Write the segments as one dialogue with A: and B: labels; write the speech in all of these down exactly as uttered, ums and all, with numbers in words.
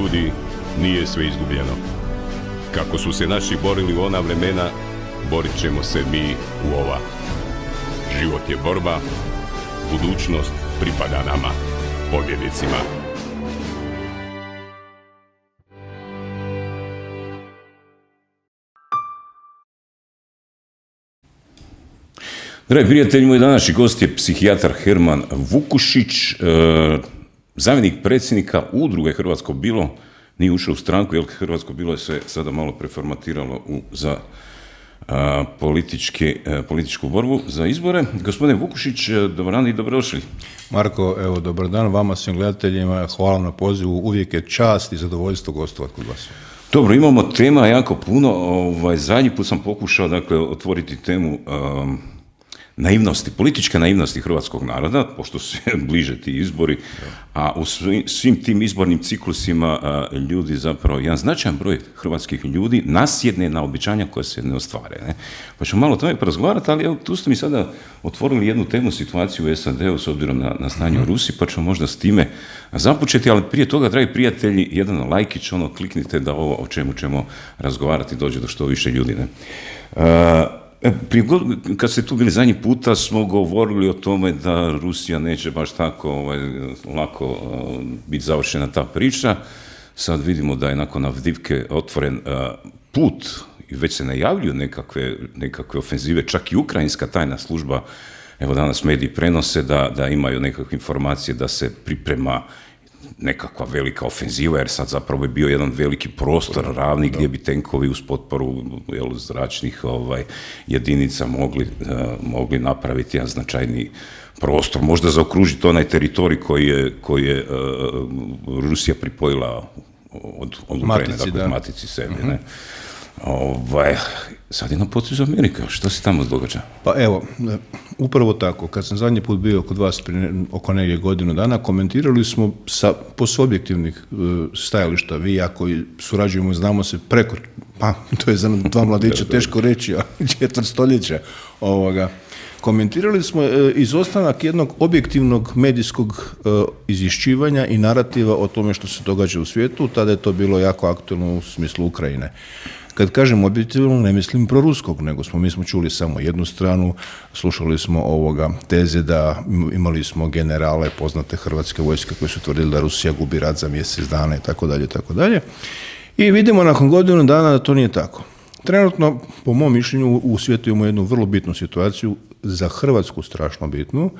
A: ljudi, nije sve izgubljeno. Kako su se naši borili u ona vremena, borit ćemo se mi u ova. Život je borba, budućnost pripada nama, pobjednicima. Dragi prijatelji, moj današnji gost je psihijatar Herman Vukušić, e, zamjenik predsjednika udruge Hrvatsko bilo, nije ušao u stranku, jer Hrvatsko bilo je se sada malo preformatiralo u, za a, politički, a, političku borbu za izbore. Gospodine Vukušić, dobar dan i dobrodošli.
B: Marko, evo, dobar dan vama, svim gledateljima, hvala na pozivu, uvijek je čast i zadovoljstvo gostovati kod vas.
A: Dobro, imamo tema jako puno, ovaj, zadnji put sam pokušao, dakle, otvoriti temu um, naivnosti, političke naivnosti hrvatskog naroda, pošto se bliže ti izbori, a u svim, svim tim izbornim ciklusima a, ljudi zapravo, jedan značajan broj hrvatskih ljudi nasjedne na obećanja koja se ne ostvare. Ne? Pa ćemo malo o tome porazgovarati, ali evo, tu ste mi sada otvorili jednu temu, situaciju u S A D-u s obzirom na, na stanje u Rusiji, pa ćemo možda s time započeti, ali prije toga, dragi prijatelji, jedan lajkić, ono, kliknite da ovo o čemu ćemo razgovarati dođe do što više ljudi. Ne? A, Prije, kad ste tu bili zadnji puta, smo govorili o tome da Rusija neće baš tako ovaj, lako uh, biti završena ta priča. Sad vidimo da je nakon Avdivke otvoren uh, put i već se najavljuju nekakve, nekakve ofenzive, čak i ukrajinska tajna služba, evo danas mediji prenose da, da imaju nekakve informacije da se priprema nekakva velika ofenziva, jer sad zapravo je bio jedan veliki prostor ravni gdje bi tenkovi uz potporu jel, zračnih ovaj, jedinica mogli, uh, mogli napraviti jedan značajni prostor, možda zaokružiti onaj teritorij koji je, koji je uh, Rusija pripojila od, od Ukrajine, dakle od matici sebi. Uh-huh. Ne? Ovaj, sad je na potezu Amerika, što se tamo događa?
B: Pa evo, upravo tako, kad sam zadnji put bio kod vas prije oko negdje godinu dana, komentirali smo sa posubjektivnih stajališta, vi ja koji surađujemo, znamo se preko, pa to je za dva mladića teško reći, a četvrt stoljeća ovoga. Komentirali smo e, izostanak jednog objektivnog medijskog e, izvješćivanja i narativa o tome što se događa u svijetu, tada je to bilo jako aktualno u smislu Ukrajine. Kad kažem objektivno, ne mislim proruskog, nego smo, mi smo čuli samo jednu stranu, slušali smo ovoga teze da imali smo generale poznate hrvatske vojske koji su tvrdili da Rusija gubi rat za mjesec dana i tako dalje, tako dalje. I vidimo nakon godinu dana da to nije tako. Trenutno, po mom mišljenju, u svijetu imamo jednu vrlo bitnu situaciju, za Hrvatsku strašno bitnu,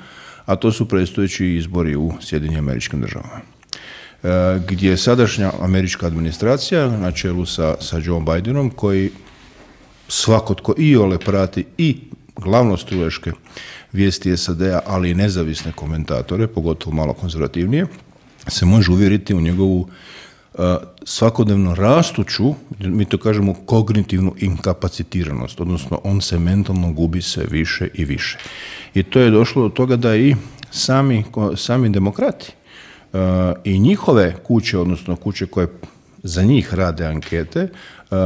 B: a to su predstojeći izbori u Sjedinjenim Američkim Državama. E, gdje je sadašnja američka administracija na čelu sa, sa Joe Bidenom, koji svako tko iole prati i glavnostruješke vijesti S A D-a, ali i nezavisne komentatore, pogotovo malo konzervativnije, se može uvjeriti u njegovu svakodnevno rastuću, mi to kažemo kognitivnu inkapacitiranost, odnosno on se mentalno gubi sve više i više. I to je došlo do toga da i sami, sami demokrati uh, i njihove kuće, odnosno kuće koje za njih rade ankete, uh,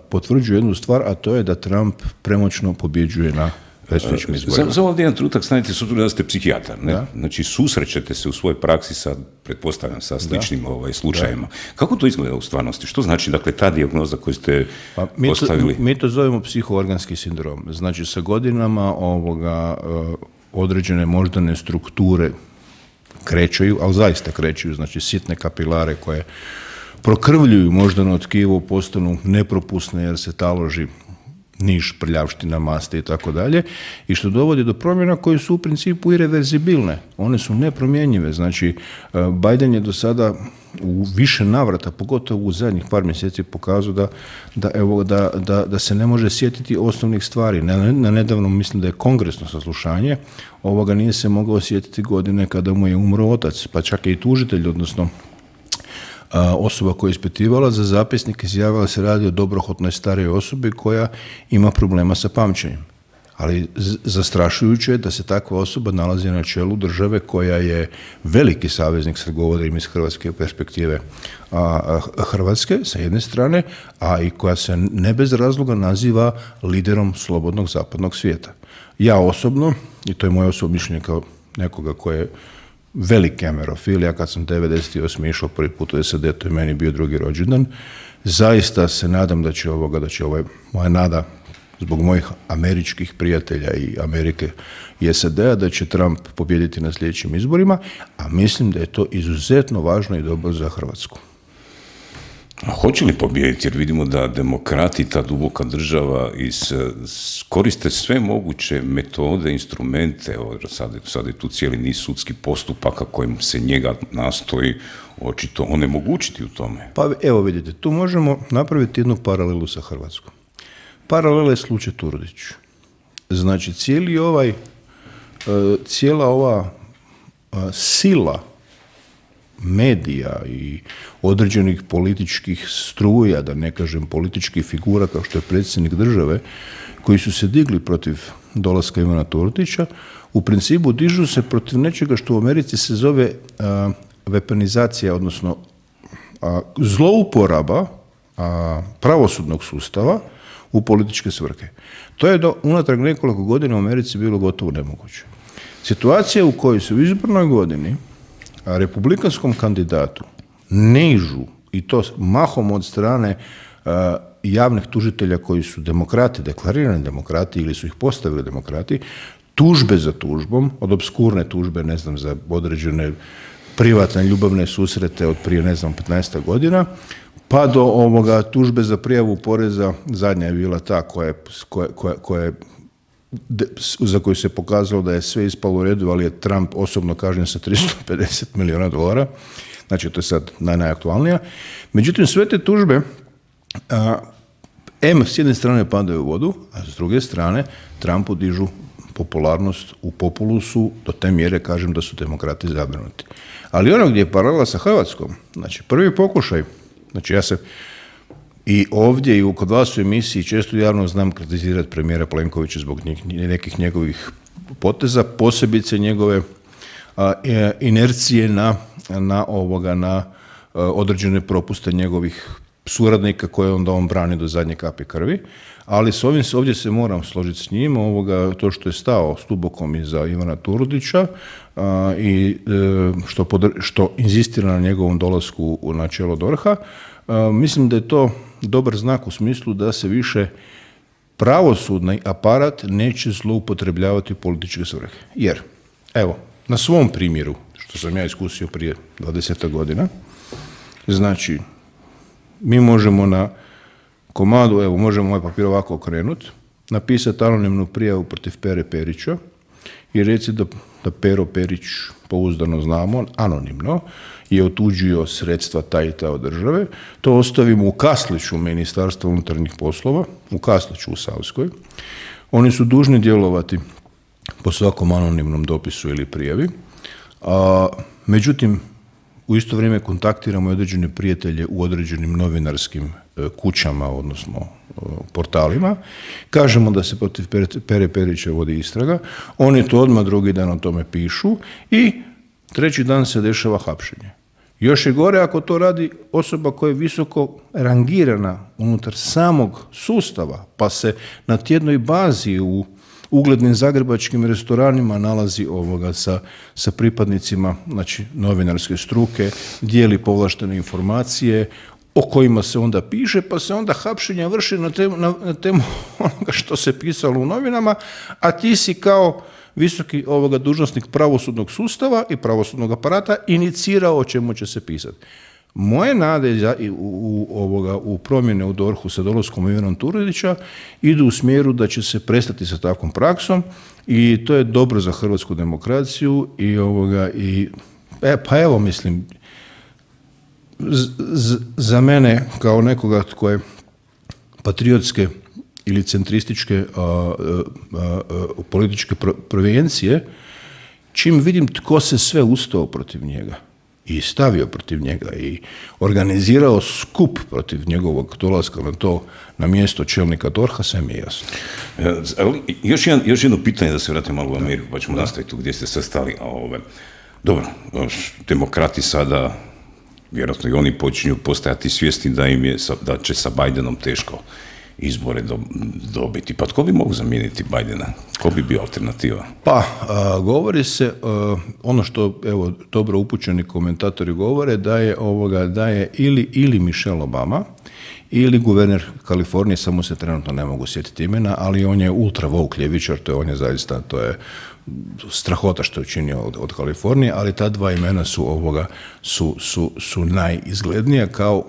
B: potvrđuju jednu stvar, a to je da Trump premoćno pobjeđuje na predstojećim izborima.
A: Za ovdje jedan trenutak stanite s obzirom da ste psihijatar, ne? Da. Znači susrećete se u svojoj praksi sa, pretpostavljam, sa sličnim ovaj, slučajima. Da. Kako to izgleda u stvarnosti? Što znači, dakle, ta dijagnoza koju ste pa, mi postavili?
B: To, mi to zovemo psihoorganski sindrom. Znači, sa godinama ovoga, određene moždane strukture krećaju, ali zaista krećaju, znači sitne kapilare koje prokrvljuju moždano tkivo, postanu nepropusne jer se taloži niš, prljavština, maste i tako dalje, i što dovodi do promjena koje su u principu ireverzibilne. One su nepromjenjive. Znači, Biden je do sada u više navrata, pogotovo u zadnjih par mjeseci, pokazao da, da, evo, da, da, da se ne može sjetiti osnovnih stvari. Na, na nedavno, mislim da je kongresno saslušanje, ovoga nije se mogao sjetiti godine kada mu je umro otac, pa čak i tužitelj, odnosno osoba koja je ispitivala za zapisnik izjavila se radi o dobrohotnoj starijoj osobi koja ima problema sa pamćenjem. Ali zastrašujuće je da se takva osoba nalazi na čelu države koja je veliki saveznik, sad govorim iz hrvatske perspektive, a, Hrvatske sa jedne strane, a i koja se ne bez razloga naziva liderom slobodnog zapadnog svijeta. Ja osobno, i to je moje osobno mišljenje kao nekoga koje veliki ameriofil. Ja kad sam devedeset osme išao prvi put u S A D, to je meni bio drugi rođendan. Zaista se nadam da će ovoga, da će ovaj, moja nada zbog mojih američkih prijatelja i Amerike i S A D-a, da će Trump pobijediti na sljedećim izborima, a mislim da je to izuzetno važno i dobro za Hrvatsku.
A: A hoće li pobijediti? Jer vidimo da demokrati, ta duboka država, is, koriste sve moguće metode, instrumente. Sad, sad je tu cijeli niz sudskih postupaka kojim se njega nastoji očito onemogućiti u tome.
B: Pa evo vidite, tu možemo napraviti jednu paralelu sa Hrvatskom. Paralela je slučaj Turudić. Znači, cijeli ovaj, cijela ova sila medija i određenih političkih struja, da ne kažem političkih figura kao što je predsjednik države, koji su se digli protiv dolaska Ivana Turudića, u principu dižu se protiv nečega što u Americi se zove a, weaponizacija, odnosno a, zlouporaba a, pravosudnog sustava u političke svrhe. To je do unatrag nekoliko godina u Americi bilo gotovo nemoguće. Situacija u kojoj se u izbornoj godini a republikanskom kandidatu nižu, i to mahom od strane a, javnih tužitelja koji su demokrati, deklarirani demokrati ili su ih postavili demokrati, tužbe za tužbom, od obskurne tužbe, ne znam, za određene privatne ljubavne susrete od prije, ne znam, petnaest godina, pa do ovoga tužbe za prijavu poreza, zadnja je bila ta koja, koja, koja, koja je za koju se pokazalo da je sve ispalo u redu, ali je Trump osobno kažnjen sa tristo pedeset milijuna dolara. Znači, to je sad naj, najaktualnija. Međutim, sve te tužbe, a, em, s jedne strane padaju u vodu, a s druge strane Trumpu dižu popularnost u populusu do te mjere, kažem, da su demokrati zabrinuti. Ali ono gdje je paralela sa Hrvatskom, znači, prvi pokušaj, znači, ja se i ovdje i kod vas u emisiji često javno znam kritizirati premijera Plenkovića zbog nekih njegovih poteza, posebice njegove a, inercije na, na, ovoga, na a, određene propuste njegovih suradnika koje onda on brani do zadnje kapi krvi, ali s ovim, ovdje se moram složiti s njim, ovoga, to što je stao s tubokom iza Ivana Turudića a, i e, što, podr, što inzistira na njegovom dolasku na čelo DORH-a, mislim da je to dobar znak u smislu da se više pravosudni aparat neće zloupotrebljavati političke svrhe. Jer, evo, na svom primjeru, što sam ja iskusio prije dvadeset godina, znači, mi možemo na komadu, evo, možemo ovaj papir ovako okrenuti, napisati anonimnu prijavu protiv Pere Perića i reći da, da Pero Perić, pouzdano znamo, anonimno, je otuđio sredstva taj i ta od države. To ostavimo u Kasliću Ministarstva unutarnjih poslova, u Kasliću u Savskoj. Oni su dužni djelovati po svakom anonimnom dopisu ili prijavi. A, međutim, u isto vrijeme kontaktiramo određene prijatelje u određenim novinarskim e, kućama, odnosno e, portalima. Kažemo da se protiv Pere Perića vodi istraga. Oni to odmah drugi dan o tome pišu i treći dan se dešava hapšenje. Još je gore ako to radi osoba koja je visoko rangirana unutar samog sustava, pa se na tjednoj bazi u uglednim zagrebačkim restoranima nalazi ovoga sa, sa pripadnicima, znači, novinarske struke, dijeli povlaštene informacije o kojima se onda piše, pa se onda hapšenja vrši na temu, na, na temu onoga što se pisalo u novinama, a ti si kao visoki ovoga dužnosnik pravosudnog sustava i pravosudnog aparata inicirao o čemu će se pisati. Moje nade za, u, u, ovoga, u promjene u DORH-u sa dolaskom Ivana Turudića idu u smjeru da će se prestati sa takvom praksom i to je dobro za hrvatsku demokraciju i ovoga i e, pa evo mislim z, z, za mene kao nekoga tko je patriotske ili centrističke a, a, a, a, političke prevencije, čim vidim tko se sve ustao protiv njega i stavio protiv njega i organizirao skup protiv njegovog dolaska na to, na mjesto čelnika DORH-a, sve mi je jasno.
A: Ali još, jedan, još jedno pitanje da se vratimo malo u Ameriku, pa ćemo da. nastaviti tu gdje ste se stali. A ove, dobro, demokrati sada, vjerojatno i oni počinju postajati svjesni da im je, da će sa Bidenom teško. izbore do, dobiti. Pa tko bi mogao zamijeniti Bidena? Ko bi bio alternativa?
B: Pa, a, govori se, a, ono što, evo, dobro upućeni komentatori govore, da je, ovoga, da je ili, ili Michelle Obama, ili guverner Kalifornije, samo se trenutno ne mogu sjetiti imena, ali on je ultra woke ljevičar, to je, on je zaista, to je strahota što je učinio od, od Kalifornije, ali ta dva imena su, ovoga, su, su, su najizglednija kao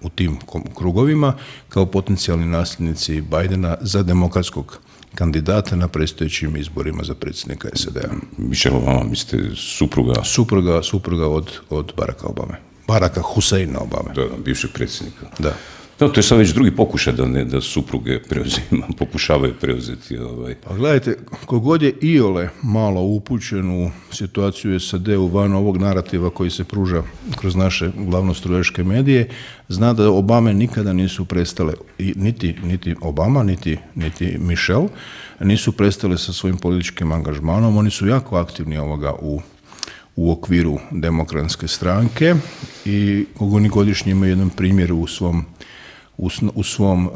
B: u tim krugovima, kao potencijalni nasljednici Bidena za demokratskog kandidata na predstojećim izborima za predsjednika S A D-a.
A: Michelle Obama, mislite, supruga?
B: Supruga, supruga od, od Baracka Obame. Baracka Husseina Obame.
A: Da, bivšeg predsjednika.
B: Da.
A: No, to je sad već drugi pokušaj da, ne, da supruge preuzima, pokušavaju preuzeti. Ovaj.
B: Pa gledajte, kogod je iole malo upućen u situaciju S A D-u van ovog narativa koji se pruža kroz naše glavnostrujaške medije, zna da Obame nikada nisu prestale, i niti, niti Obama, niti, niti Michelle, nisu prestale sa svojim političkim angažmanom. Oni su jako aktivni ovoga u u okviru demokratske stranke i oni godišnje imaju jedan primjer u svom u, u svom uh,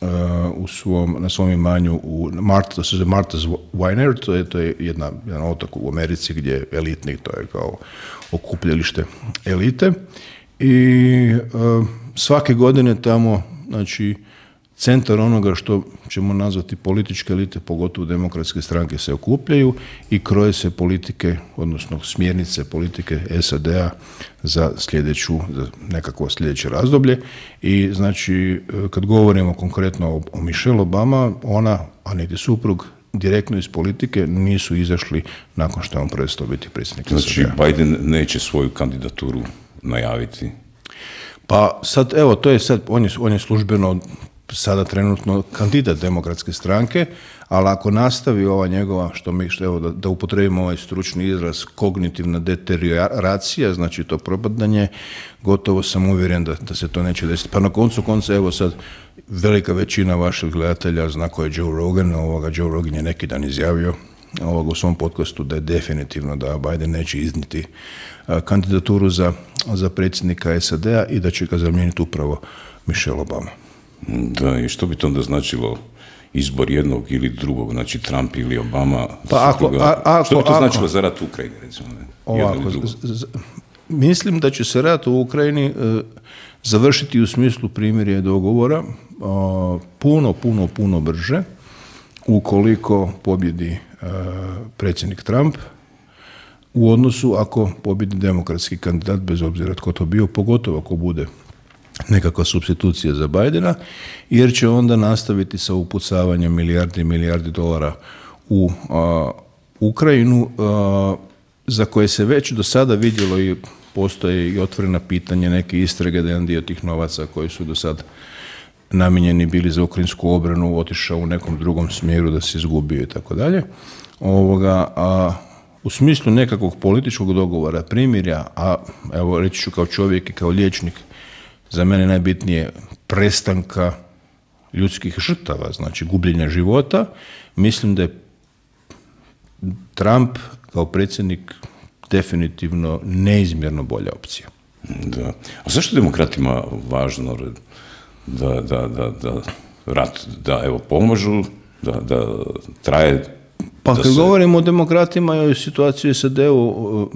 B: uh, u svom na svom imanju u Martha, to se zove Martha's Vineyard, to je to je jedna jedan otok u Americi gdje je elitni, to je kao okupljalište elite i uh, svake godine tamo, znači, centar onoga što ćemo nazvati političke elite, pogotovo demokratske stranke, se okupljaju i kroje se politike, odnosno smjernice politike S A D-a za sljedeću, za nekakvo sljedeće razdoblje. I znači, kad govorimo konkretno o, o Michelle Obama, ona, a niti suprug, direktno iz politike nisu izašli nakon što je on prestao biti predsjednik S A D-a.
A: Znači, Biden neće svoju kandidaturu najaviti?
B: Pa sad, evo, to je sad, on je, on je službeno sada trenutno kandidat demokratske stranke, ali ako nastavi ova njegova, što mi, što, evo, da, da upotrebimo ovaj stručni izraz, kognitivna deterioracija, znači to propadanje, gotovo sam uvjeren da, da se to neće desiti. Pa na koncu konca, evo sad, velika većina vaših gledatelja zna ko je Joe Rogan, ovoga, Joe Rogan je neki dan izjavio ovoga, u svom podcastu da je definitivno da Biden neće izniti a, kandidaturu za, za predsjednika S A D-a i da će ga zamijeniti upravo Michelle Obama.
A: Da, i što bi to onda značilo izbor jednog ili drugog, znači Trump ili Obama?
B: Pa ako, a, ako,
A: što bi to
B: ako,
A: značilo za rat u Ukrajini, recimo? Ne?
B: Ovako, z, z, mislim da će se rat u Ukrajini e, završiti u smislu primirja i dogovora e, puno, puno, puno brže ukoliko pobjedi e, predsjednik Trump u odnosu ako pobjedi demokratski kandidat, bez obzira tko to bio, pogotovo ako bude nekakva supstitucija za Bidena, jer će onda nastaviti sa upucavanjem milijardi i milijardi dolara u a, Ukrajinu, a, za koje se već do sada vidjelo i postoje i otvorena pitanja, neke istrage da jedan dio tih novaca koji su do sad namijenjeni bili za ukrajinsku obranu otišao u nekom drugom smjeru, da se izgubio i tako dalje. Ovoga, a u smislu nekakvog političkog dogovora, primirja, a evo reći ću kao čovjek i kao liječnik, za mene najbitnije prestanka ljudskih žrtava, znači gubljenja života, mislim da je Trump kao predsjednik definitivno neizmjerno bolja opcija.
A: Da. A zašto demokratima važno da, da, da, da rat, da evo pomožu, da, da traje?
B: Pa
A: da
B: kad
A: se...
B: govorimo o demokratima i o situaciji S A D-u,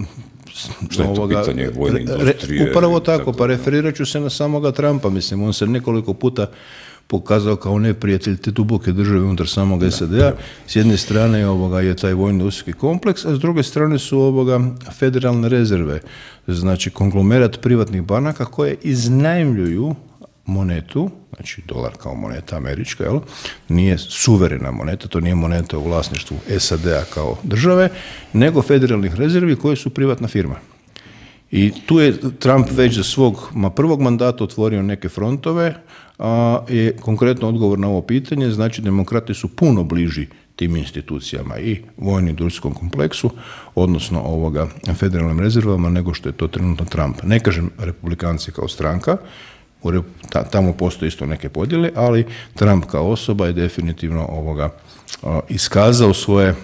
A: što je to ovoga, pitanje vojne industrije?
B: Re, upravo tako, tako, pa referirat ću se na samoga Trumpa, mislim, on se nekoliko puta pokazao kao neprijatelj te duboke države unutar samog S A D-a. S jedne strane ovoga je taj vojni industrijski kompleks, a s druge strane su ovoga federalne rezerve, znači konglomerat privatnih banaka koje iznajmljuju monetu, znači dolar kao moneta američka, jel? Nije suverena moneta, to nije moneta u vlasništvu S A D-a kao države, nego federalnih rezervi koje su privatna firma. I tu je Trump već za svog ma prvog mandata otvorio neke frontove, a je konkretno odgovor na ovo pitanje, znači demokrati su puno bliži tim institucijama i vojno industrijskom kompleksu, odnosno ovoga federalnim rezervama, nego što je to trenutno Trump. Ne kažem republikanci kao stranka, tamo postoje isto neke podjele, ali Trump kao osoba je definitivno ovoga iskazao svoje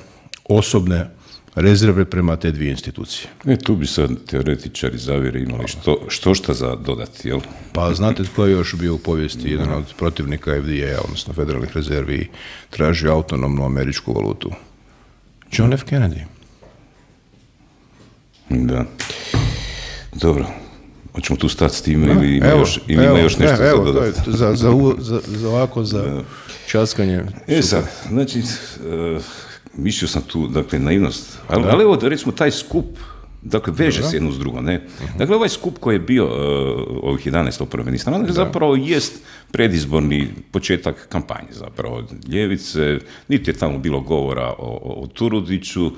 B: osobne, rezerve prema te dvije institucije.
A: E, tu bi sad teoretičari zavjere imali što, što šta za dodati, jel?
B: Pa znate tko je još bio u povijesti jedan od protivnika F D A, odnosno federalnih rezervi, i tražio autonomnu američku valutu? John F. Kennedy.
A: Da. Dobro. Hoćemo tu stati s time ili ima
B: evo,
A: još, ili
B: evo,
A: ima još nešto
B: evo,
A: za dodati?
B: Za, za, za, za ovako, za da. Časkanje.
A: E sad, znači, uh, mislio sam tu, dakle, naivnost, ali, ali evo, recimo, taj skup, dakle, veže Dobre. se jedno s drugo, ne? Uh-huh. Dakle, ovaj skup koji je bio uh, ovih jedanaest oporbenih strana, zapravo jest predizborni početak kampanje, zapravo, ljevice, niti je tamo bilo govora o, o, o Turudiću,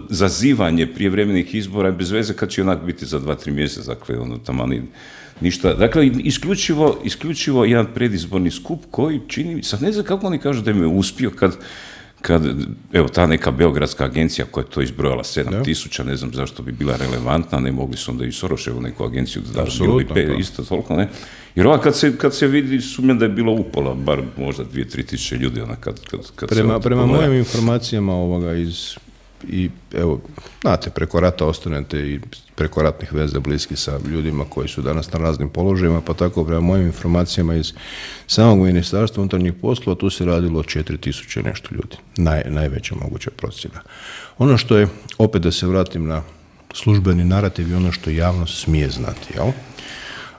A: zazivanje prijevremenih izbora je bez veze kad će onak biti za dva, tri mjeseca, dakle, ono tamo ništa. Dakle, isključivo, isključivo jedan predizborni skup koji čini, sad ne znam kako oni kažu da im je uspio kad, kad evo, ta neka beogradska agencija koja je to izbrojala sedam tisuća, ne znam zašto bi bila relevantna, ne mogli su onda i Soroševu neku agenciju da bilo bi pe, isto toliko, ne? Jer ova kad se, kad se vidi, sumnjam da je bilo upola, bar možda dvije, tri tisuće ljudi, ona kad, kad, kad
B: prema,
A: se...
B: Prema mojim informacijama ovoga iz, i evo, znate, preko rata ostanete i preko ratnih veza bliski sa ljudima koji su danas na raznim položajima, pa tako prema mojim informacijama iz samog Ministarstva unutarnjih poslova, tu se radilo o četiri tisuće nešto ljudi, Naj, najveća moguća procjena. Ono što je, opet da se vratim na službeni narativ i ono što javnost smije znati, jel?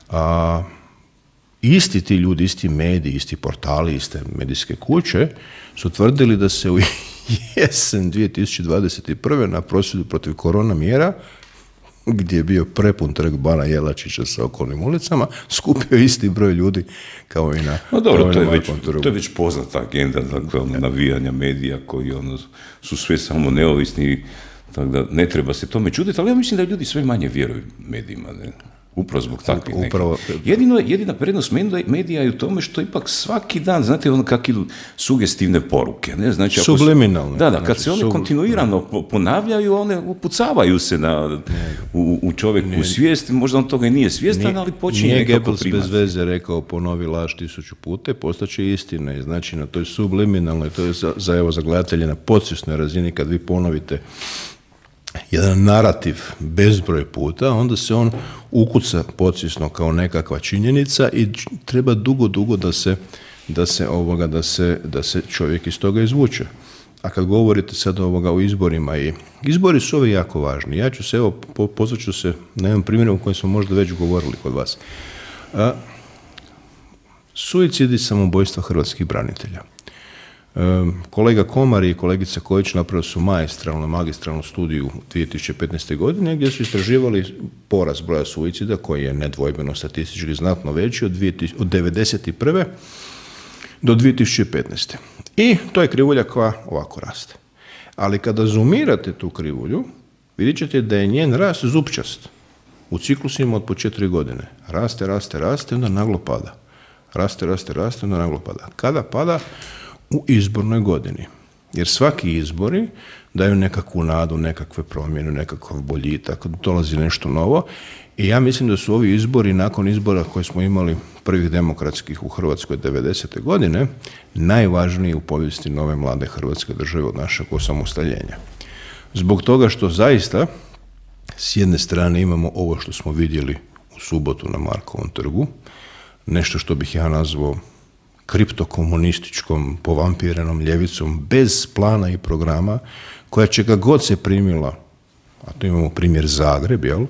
B: A, isti ti ljudi, isti mediji, isti portali, iste medijske kuće su tvrdili da se u jesen dvije tisuće dvadeset prve na prosvjedu protiv korona mjera, gdje je bio prepun trg Bana Jelačića sa okolnim ulicama, skupio isti broj ljudi kao i na...
A: No dobro, to je, već, to je već poznata agenda, dakle, ono, navijanja medija koji ono, su sve samo neovisni, tako da ne treba se tome čuditi, ali ja mislim da ljudi sve manje vjeruju medijima, ne? Upravo zbog takvih
B: Upravo...
A: Jedino, jedina prednost medija je u tome što ipak svaki dan, znate, ono kak idu sugestivne poruke, ne? Znači,
B: subliminalne.
A: Da, da, kad
B: znači,
A: se one sub... kontinuirano ponavljaju, one upucavaju se na, u, u čovjeku u svijest, možda on toga i nije svjestan, nije, ali počinje
B: nije
A: nekako
B: Goebbels
A: primati.
B: Bez veze rekao, ponovi laž tisuću puta, postaće istina, znači na toj subliminalnoj, to je za, za, evo, za gledatelje na podsvjesnoj razini, kad vi ponovite jedan narativ bezbroj puta, onda se on ukuca podsvjesno kao nekakva činjenica i treba dugo, dugo da se, da se, ovoga, da se, da se čovjek iz toga izvuče. A kad govorite sad ovoga o izborima, i izbori su ovi jako važni. Ja ću se, evo, po, pozvat ću se na jedan primjer o kojem smo možda već govorili kod vas. A, suicid i samobojstva hrvatskih branitelja. Kolega Komar i kolegica Kojić napravili su maestralnu, magistralnu studiju dvije tisuće petnaeste. godine gdje su istraživali porast broja suicida koji je nedvojbeno statistički znatno veći od, od devedeset prve do dvije tisuće petnaeste. I to je krivulja koja ovako raste. Ali kada zoomirate tu krivulju, vidjet ćete da je njen rast zupčast u ciklusima od po četiri godine. Raste, raste, raste, onda naglo pada. Raste, raste, raste, onda naglo pada. Kada pada? U izbornoj godini. Jer svaki izbori daju nekakvu nadu, nekakve promjene, nekakav boljitak, dolazi nešto novo. I ja mislim da su ovi izbori, nakon izbora koje smo imali prvih demokratskih u Hrvatskoj devedesete. godine, najvažniji u povijesti nove mlade Hrvatske države od našeg osamostaljenja. Zbog toga što zaista s jedne strane imamo ovo što smo vidjeli u subotu na Markovom trgu, nešto što bih ja nazvao kriptokomunističkom, povampirenom ljevicom, bez plana i programa, koja čega god se primila, a tu imamo primjer Zagreb, jel,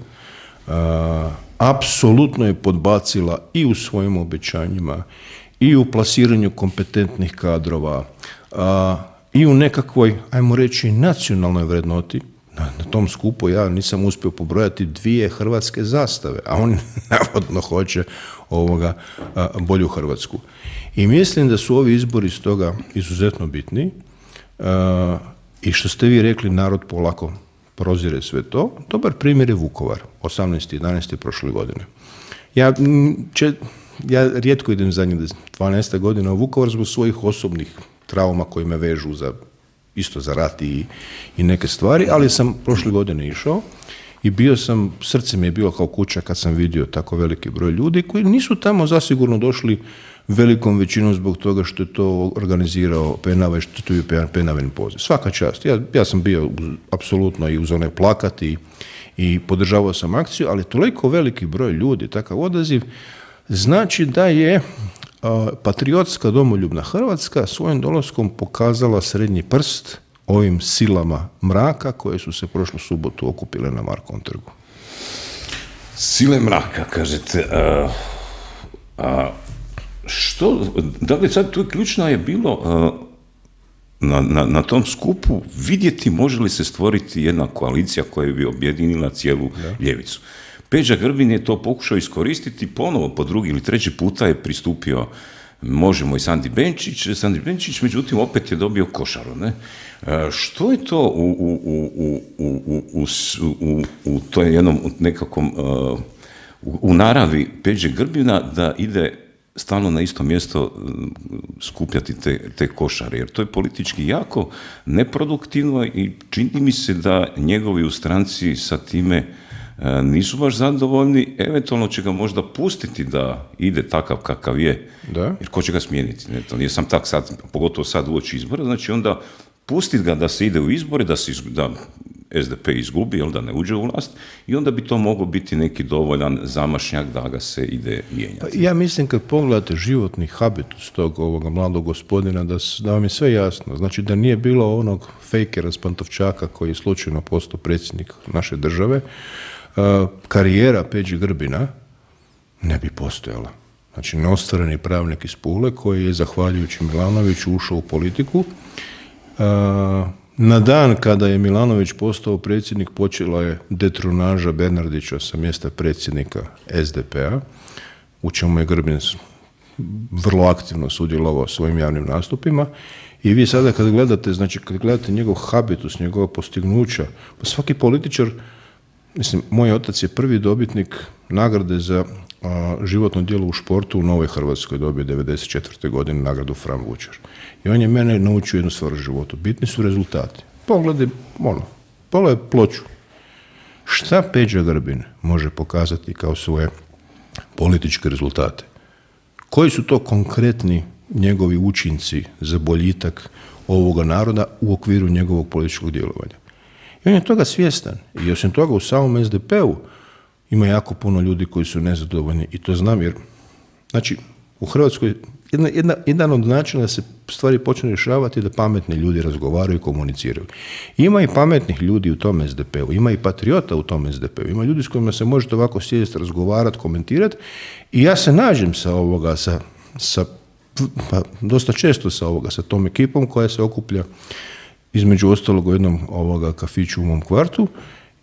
B: a, apsolutno je podbacila i u svojim obećanjima, i u plasiranju kompetentnih kadrova, a, i u nekakvoj, ajmo reći, nacionalnoj vrednoti. Na, na tom skupu ja nisam uspio pobrojati dvije hrvatske zastave, a on navodno hoće ovoga a, bolju Hrvatsku. I mislim da su ovi izbori stoga izuzetno bitni a, i što ste vi rekli, narod polako prozire sve to. Dobar primjer je Vukovar, osamnaesti jedanaesti prošle godine. Ja, če, ja rijetko idem zadnjih dvanaest godina u Vukovar zbog svojih osobnih trauma koji me vežu za isto za rat i, i neke stvari, ali sam prošle godine išao i bio sam, srce mi je bilo kao kuća kad sam vidio tako veliki broj ljudi koji nisu tamo zasigurno došli velikom većinom zbog toga što je to organizirao Penava i što je tu je Penavin poziv. Svaka čast. Ja, ja sam bio apsolutno i uz onaj plakat i, i podržavao sam akciju, ali toliko veliki broj ljudi, takav odaziv, znači da je a, patriotska domoljubna Hrvatska svojim dolaskom pokazala srednji prst ovim silama mraka koje su se prošlu subotu okupile na Markovom trgu.
A: Sile mraka, kažete. A, a, što, dakle, sad tu ključno je bilo a, na, na, na tom skupu vidjeti može li se stvoriti jedna koalicija koja bi objedinila cijelu da. ljevicu. Peđa Grbin je to pokušao iskoristiti, ponovo po drugi ili treći puta je pristupio Možemo i Sandi Benčić, Sandi Benčić, međutim, opet je dobio košaru, ne? E, što je to u, u, u, u, u, u, u, u toj jednom nekakvom, uh, u, u naravi Peđe Grbina da ide stalno na isto mjesto skupljati te, te košare, jer to je politički jako neproduktivno i čini mi se da njegovi u stranci sa time nisu baš zadovoljni, eventualno će ga možda pustiti da ide takav kakav je, da? Jer ko će ga smijeniti? Ne, to nije sam tak sad, pogotovo sad uoči izbora, znači onda pustiti ga da se ide u izbore, da, se, da S D P izgubi, jel, da ne uđe u vlast, i onda bi to moglo biti neki dovoljan zamašnjak da ga se ide mijenjati. Pa
B: ja mislim kad pogledate životni habitus tog ovoga mladog gospodina, da, da vam je sve jasno. Znači da nije bilo onog fejkera s Pantovčaka koji je slučajno postao predsjednik naše države, karijera Peđi Grbina ne bi postojala. Znači, neostvareni pravnik iz Pule koji je, zahvaljujući Milanoviću, ušao u politiku. Na dan kada je Milanović postao predsjednik, počela je detronaža Bernardića sa mjesta predsjednika S D P-a, u čemu je Grbin vrlo aktivno sudjelovao svojim javnim nastupima. I vi sada kad gledate, znači kad gledate njegov habitus, njegova postignuća, pa svaki političar, mislim, moj otac je prvi dobitnik nagrade za a, životno djelo u športu u Novoj Hrvatskoj, dobio devedeset četvrte godine nagradu Fran Vučar. I on je mene naučio jednu stvar u životu. Bitni su rezultati. Pogledaj, ono, pogledaj ploču. Šta Peđa Grbin može pokazati kao svoje političke rezultate? Koji su to konkretni njegovi učinci za boljitak ovoga naroda u okviru njegovog političkog djelovanja? I on je toga svjestan. I osim toga u samom S D P-u ima jako puno ljudi koji su nezadovoljni i to znam jer, znači, u Hrvatskoj jedna, jedna, jedan od načina da se stvari počne rješavati je da pametni ljudi razgovaraju i komuniciraju. Ima i pametnih ljudi u tom S D P-u, ima i patriota u tom S D P-u, ima ljudi s kojima se možete ovako sjesti, razgovarati, komentirati i ja se nađem sa ovoga, sa, sa pa, dosta često sa ovoga, sa tom ekipom koja se okuplja između ostalog u jednom ovoga kafiću u mom kvartu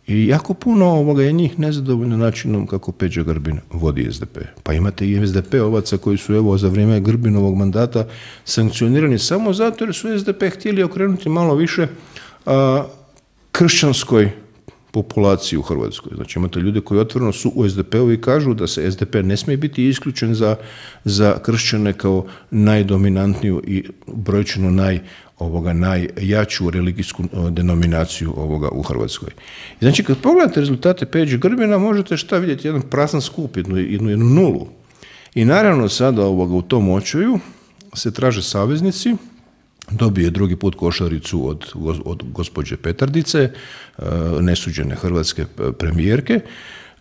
B: i jako puno ovoga je njih nezadovoljno načinom kako Peđa Grbin vodi S D P. Pa imate i S D P-ovaca koji su evo za vrijeme Grbinovog mandata sankcionirani samo zato jer su S D P htjeli okrenuti malo više a, kršćanskoj populaciji u Hrvatskoj. Znači imate ljude koji otvoreno su u S D P-u i kažu da se S D P ne smije biti isključen za, za kršćane kao najdominantniju i brojčano naj ovoga najjaču religijsku denominaciju ovoga u Hrvatskoj. I znači, kad pogledate rezultate Peđe Grbina, možete šta vidjeti, jedan prazan skup, jednu, jednu, jednu nulu. I naravno sada ovoga u tom očaju se traže saveznici, dobije drugi put košaricu od, od gospođe Petardice, nesuđene hrvatske premijerke,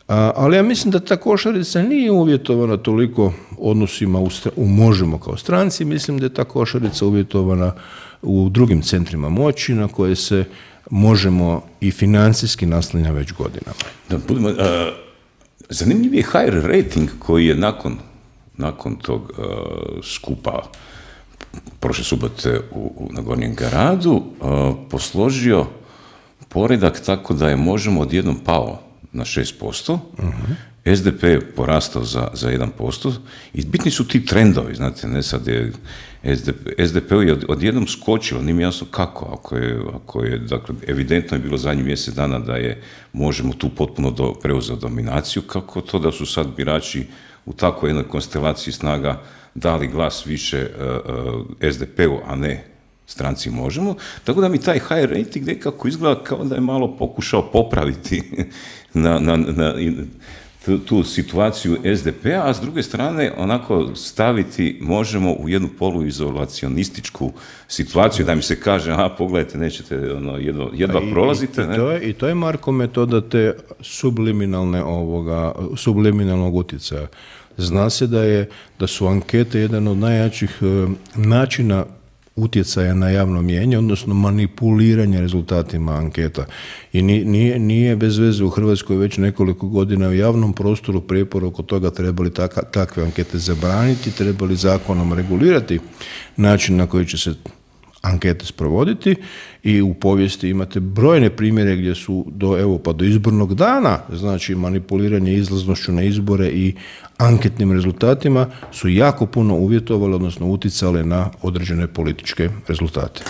B: ali ja mislim da ta košarica nije uvjetovana toliko odnosima u, u Možemo kao stranci, mislim da je ta košarica uvjetovana u drugim centrima moći na koje se Možemo i financijski naslanja već godinama.
A: Da, budemo, uh, zanimljiv je H R rating koji je nakon, nakon tog uh, skupa prošle subote u, u, na Gornjem gradu uh, posložio poredak tako da je Možemo odjednom pao na šest posto, uh-huh. S D P je porastao za, za jedan posto i bitni su ti trendovi, znate, ne sad je S D P, S D P je odjednom skočilo, nije mi jasno kako, ako je, ako je, dakle, evidentno je bilo zadnjih mjesec dana da je Možemo tu potpuno do, preuzeo dominaciju, kako to da su sad birači u takvoj jednoj konstelaciji snaga dali glas više uh, uh, S D P-u, a ne stranci Možemo, tako da mi taj H R rating nekako izgleda kao da je malo pokušao popraviti na, na, na, tu situaciju es de pe a, a s druge strane onako staviti možemo u jednu poluizolacionističku situaciju, da mi se kaže, aha, pogledajte, nećete, ono, jedva, jedva
B: I,
A: prolazite.
B: I, i,
A: ne?
B: to je, I to je, Marko, metoda te subliminalne ovoga, subliminalnog utjecaja. Zna se da, je, da su ankete jedan od najjačih e, načina utjecaja na javno mnijenje, odnosno manipuliranje rezultatima anketa. I nije, nije bez veze u Hrvatskoj već nekoliko godina u javnom prostoru prijepor oko toga trebali taka, takve ankete zabraniti, trebali zakonom regulirati način na koji će se ankete sprovoditi i u povijesti imate brojne primjere gdje su do, evo, pa do izbornog dana, znači manipuliranje izlaznošću na izbore i anketnim rezultatima su jako puno uvjetovali, odnosno utjecale na određene političke rezultate.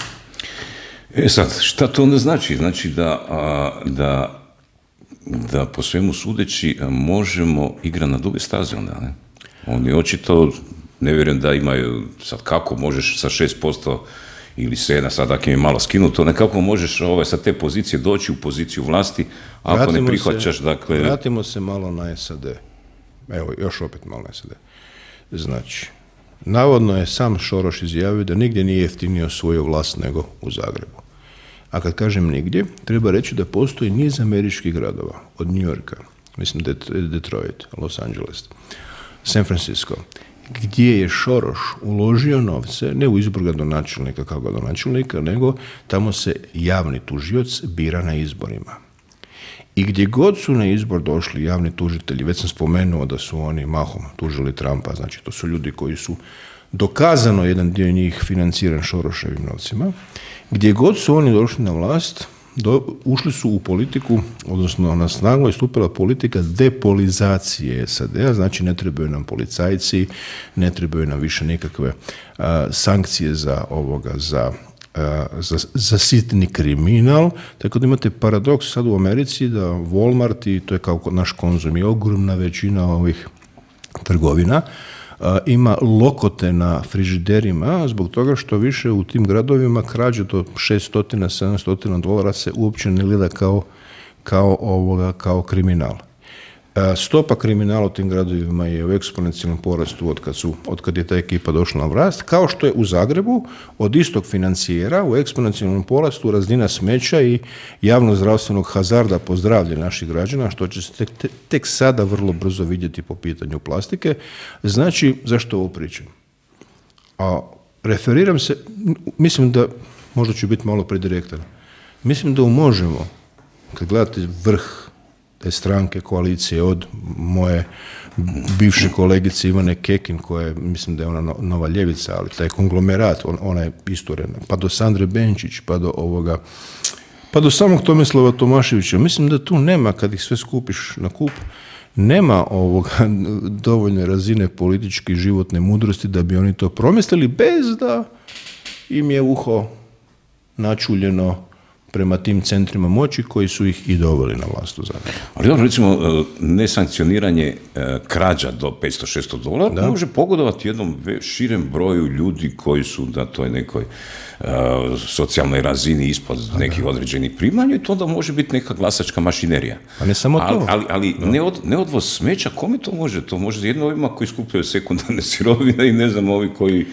A: E sad, šta to onda znači? Znači da, a, da, da po svemu sudeći možemo igrati na duge staze onda, ne? Oni očito, ne vjerujem da imaju, sad kako možeš sa šest posto ili sedam, sad ako im je malo skinuto, nekako možeš ovaj, sa te pozicije doći u poziciju vlasti, ako vratimo ne prihvaćaš,
B: se,
A: dakle...
B: Vratimo se malo na es a de. Evo, još opet malo na es a de. Znači, navodno je sam Šoroš izjavio da nigdje nije jeftinio svoju vlast nego u Zagrebu. A kad kažem nigdje, treba reći da postoji niz američkih gradova, od New Yorka, mislim Detroit, Los Angeles, San Francisco, gdje je Šoroš uložio novce, ne u izbor gradonačelnika kao gradonačelnika, nego tamo se javni tužioc bira na izborima. I gdje god su na izbor došli javni tužitelji, već sam spomenuo da su oni mahom tužili Trumpa, znači to su ljudi koji su dokazano jedan dio njih financiran Šoroševim novcima, gdje god su oni došli na vlast, Do, ušli su u politiku, odnosno na snagu je stupila politika depolizacije es a de a, znači ne trebaju nam policajci, ne trebaju nam više nikakve a, sankcije za ovoga, za, a, za, za sitni kriminal, tako da imate paradoks sad u Americi da Walmart, i to je kao naš Konzum, i ogromna većina ovih trgovina, ima lokote na frižiderima zbog toga što više u tim gradovima krađe do šesto do sedamsto dolara se uopće ne gleda kao, kao, ovoga, kao kriminal. Stopa kriminala u tim gradovima je u eksponencijalnom porastu od kad, su, od kad je ta ekipa došla na vlast, kao što je u Zagrebu od istog financijera u eksponencijalnom porastu razina smeća i javno-zdravstvenog hazarda po zdravlje naših građana, što će se tek, tek, tek sada vrlo brzo vidjeti po pitanju plastike. Znači, zašto ovo pričam? A referiram se, mislim da, možda ću biti malo predirektan, mislim da možemo, kad gledate vrh te stranke, koalicije, od moje bivše kolegice Ivane Kekin, koja je, mislim da je ona nova ljevica, ali taj konglomerat, on, ona je isturena, pa do Sandre Benčić, pa do ovoga, pa do samog Tomislava Tomaševića. Mislim da tu nema, kad ih sve skupiš na kup, nema ovoga dovoljne razine političke i životne mudrosti da bi oni to promislili bez da im je uho načuljeno prema tim centrima moći koji su ih i doveli na vlast u Zagrebu.
A: Ali dobro, recimo, nesankcioniranje krađa do petsto do šesto dolara da može pogodovati jednom širem broju ljudi koji su na toj nekoj uh, socijalnoj razini ispod da, nekih da. određenih primanja i to onda može biti neka glasačka mašinerija.
B: A ne samo to.
A: Ali, ali, ali ne od, neodvoz smeća, kome to može? To može jedno ovima koji skupljaju sekundarne sirovine i ne znam, ovi koji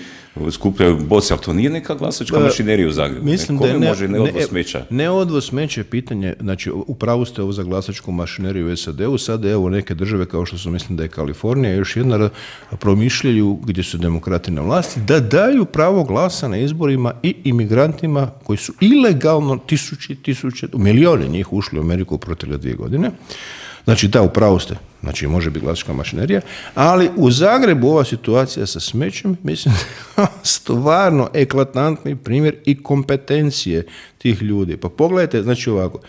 A: skupljaju boce, ali to nije neka glasačka ba, mašinerija u Zagrebu.
B: Mislim
A: ne,
B: da ne,
A: može neodvoz smeća?
B: Neodvoz smeća je pitanje, znači upravo ste ovo za glasačku mašineriju u es a de u, sada evo neke države kao što su, mislim da je Kalifornija, još jedna promišljaju gdje su demokrati na vlasti, da daju pravo glasa na izborima i imigrantima koji su ilegalno tisući, tisuće, milijoni njih ušli u Ameriku u protekle dvije godine. Znači da, upravo ste, znači može biti glasačka mašinerija, ali u Zagrebu ova situacija sa smećem, mislim, stvarno eklatantni primjer i kompetencije tih ljudi. Pa pogledajte, znači ovako,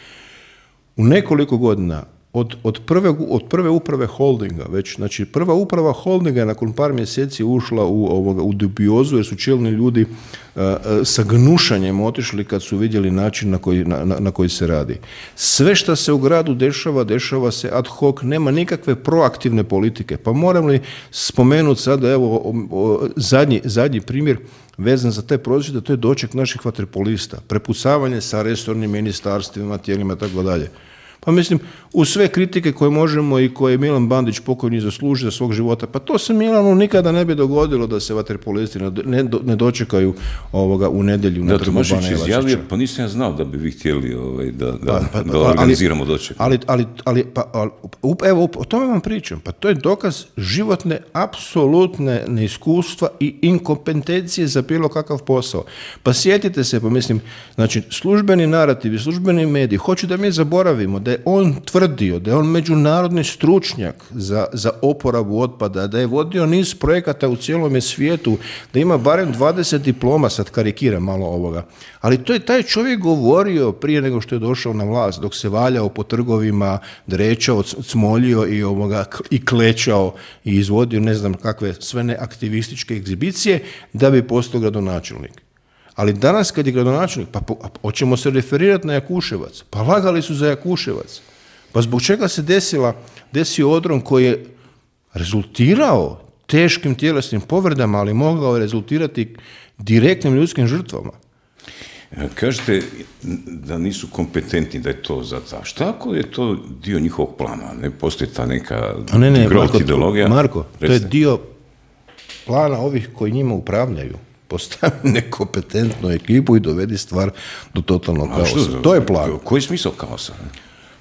B: u nekoliko godina od, od, prve, od prve uprave holdinga, već, znači prva uprava holdinga je nakon par mjeseci ušla u, ovoga, u dubiozu jer su čelni ljudi uh, sa gnušanjem otišli kad su vidjeli način na koji, na, na, na koji se radi. Sve što se u gradu dešava, dešava se ad hoc, nema nikakve proaktivne politike. Pa moram li spomenuti sada, evo, o, o, zadnji, zadnji primjer vezan za te prosvjede, to je doček naših vaterpolista, prepucavanje sa resornim ministarstvima, tijelima i tako dalje. Pa mislim, uz sve kritike koje možemo i koje je Milan Bandić pokojni zaslužio za svog života, pa to se Milanu nikada ne bi dogodilo da se vaterpolisti ne, ne dočekaju ovoga u nedjelju na Trgu Bana Jelačića.
A: Izjavio, pa nisam ja znao da bi vi htjeli ovaj, da, da, pa, pa, da organiziramo doček.
B: Ali, ali, ali, pa, ali, evo, o tome vam pričam. Pa to je dokaz životne, apsolutne neiskustva i inkompetencije za bilo kakav posao. Pa sjetite se, pa mislim, znači, službeni narativi, službeni mediji, hoću da mi zaboravimo da je on tvrdio, da je on međunarodni stručnjak za, za oporabu otpada, da je vodio niz projekata u cijelom svijetu, da ima barem dvadeset diploma, sad karikiram malo ovoga. Ali to je taj čovjek govorio prije nego što je došao na vlast, dok se valjao po trgovima, drečao, cmoljio i, ovoga, i klečao i izvodio ne znam kakve sve neaktivističke egzibicije da bi postao gradonačelnik. Ali danas kad je gradonačelnik, pa po, hoćemo se referirati na Jakuševac. Pa lagali su za Jakuševac. Pa zbog čega se desila, desio odron koji je rezultirao teškim tjelesnim povredama, ali mogao je rezultirati direktnim ljudskim žrtvama.
A: Kažete da nisu kompetentni, da je to za ta. Šta ako je to dio njihovog plana? Ne postoji ta neka
B: ne, ne, Marko,
A: ideologija?
B: Marko, to je dio plana ovih koji njima upravljaju. Postavi nekompetentnu ekipu i dovedi stvar do totalnog kaosa. Što, to je plan.
A: Koji je smisao kaosa?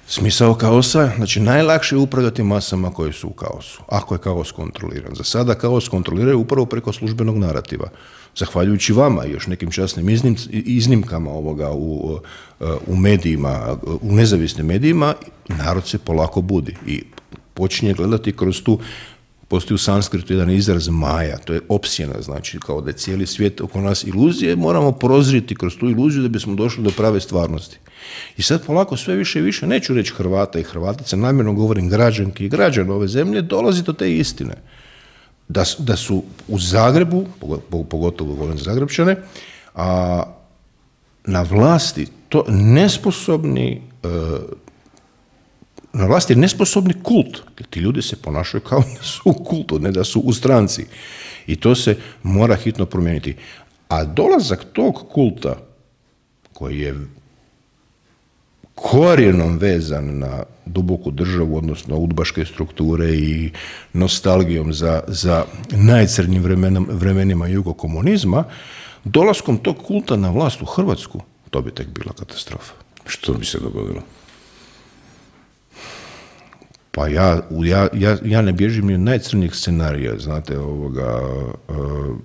B: Smisao kaosa, znači najlakše je upravljati masama koje su u kaosu, ako je kaos kontroliran. Za sada kaos kontroliraju upravo preko službenog narativa. Zahvaljujući vama i još nekim časnim iznim, iznimkama ovoga u, u medijima, u nezavisnim medijima, narod se polako budi i počinje gledati kroz tu. Postoji u sanskritu jedan izraz maja, to je opsjena, znači kao da je cijeli svijet oko nas iluzije, moramo prozriti kroz tu iluziju da bismo došli do prave stvarnosti. I sad polako sve više i više, neću reći Hrvata i Hrvatica, namjerno govorim građanki i građana ove zemlje, dolazi do te istine. Da, da su u Zagrebu, pogotovo govorim za Zagrebčane, a na vlasti to nesposobni na vlasti je nesposobni kult, jer ti ljudi se ponašaju kao da su u kultu, ne da su u stranci. I to se mora hitno promijeniti. A dolazak tog kulta, koji je korijenom vezan na duboku državu, odnosno udbaške strukture i nostalgijom za, za najcrnjim vremenom, vremenima jugokomunizma, dolaskom tog kulta na vlast u Hrvatsku, to bi tek bila katastrofa.
A: Što bi se dogodilo?
B: Pa ja, ja, ja, ja ne bježim ni od najcrnijih scenarija, znate, ovoga... Uh,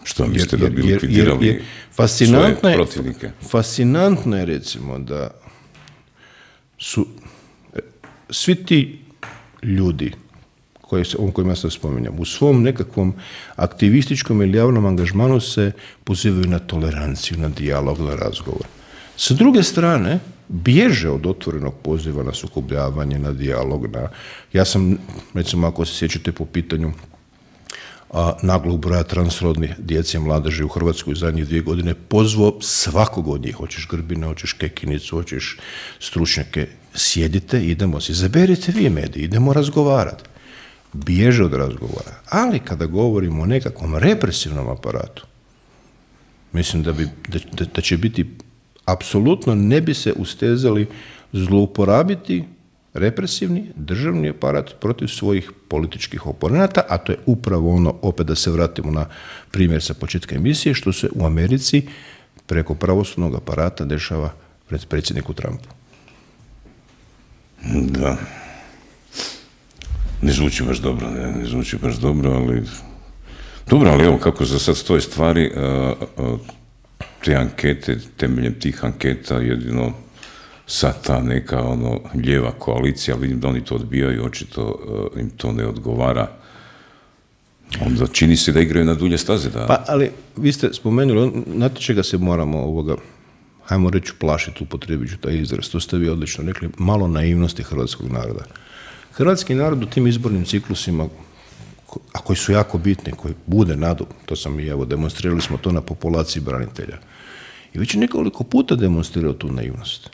A: Što mislite da bi likvidirali svoje protivnike?
B: Fascinantno je, recimo, da su svi ti ljudi koje se, o kojima se spominjam, u svom nekakvom aktivističkom ili javnom angažmanu se pozivaju na toleranciju, na dijalog, na razgovor. Sa druge strane, bježe od otvorenog poziva na sukobljavanje, na dijalog. Na... Ja sam, recimo, ako se sjećate po pitanju a, naglog broja transrodnih djece i mladeži u Hrvatskoj zadnjih dvije godine, pozvao svakog od njih. Hoćeš Grbina, hoćeš Kekinicu, hoćeš stručnjake. Sjedite, idemo si, izaberite vi mediji, idemo razgovarati. Bježe od razgovora. Ali kada govorimo o nekakvom represivnom aparatu, mislim da, bi, da, da, da će biti apsolutno ne bi se ustezali zlouporabiti represivni državni aparat protiv svojih političkih oponenata, a to je upravo ono, opet da se vratimo na primjer sa početka emisije, što se u Americi preko pravosudnog aparata dešava pred predsjedniku Trumpu.
A: Da. Ne zvuči baš dobro, ne, ne zvuči baš dobro, ali... Dobro, ali evo kako za sad stoje stvari, a, a, te ankete, temeljem tih anketa jedino sad ta neka ono lijeva koalicija, vidim da oni to odbijaju, očito uh, im to ne odgovara. Onda čini se da igraju na dulje staze. Da...
B: Pa, ali vi ste spomenuli, znate čega se moramo ovoga, hajmo reći plašiti, upotrijebit ću taj izraz, to ste vi odlično rekli, malo naivnosti hrvatskog naroda. Hrvatski narod u tim izbornim ciklusima, a koji su jako bitni, koji bude nadu, to sam i evo, demonstrirali smo to na populaciji branitelja. I već je nekoliko puta demonstrirao tu naivnost.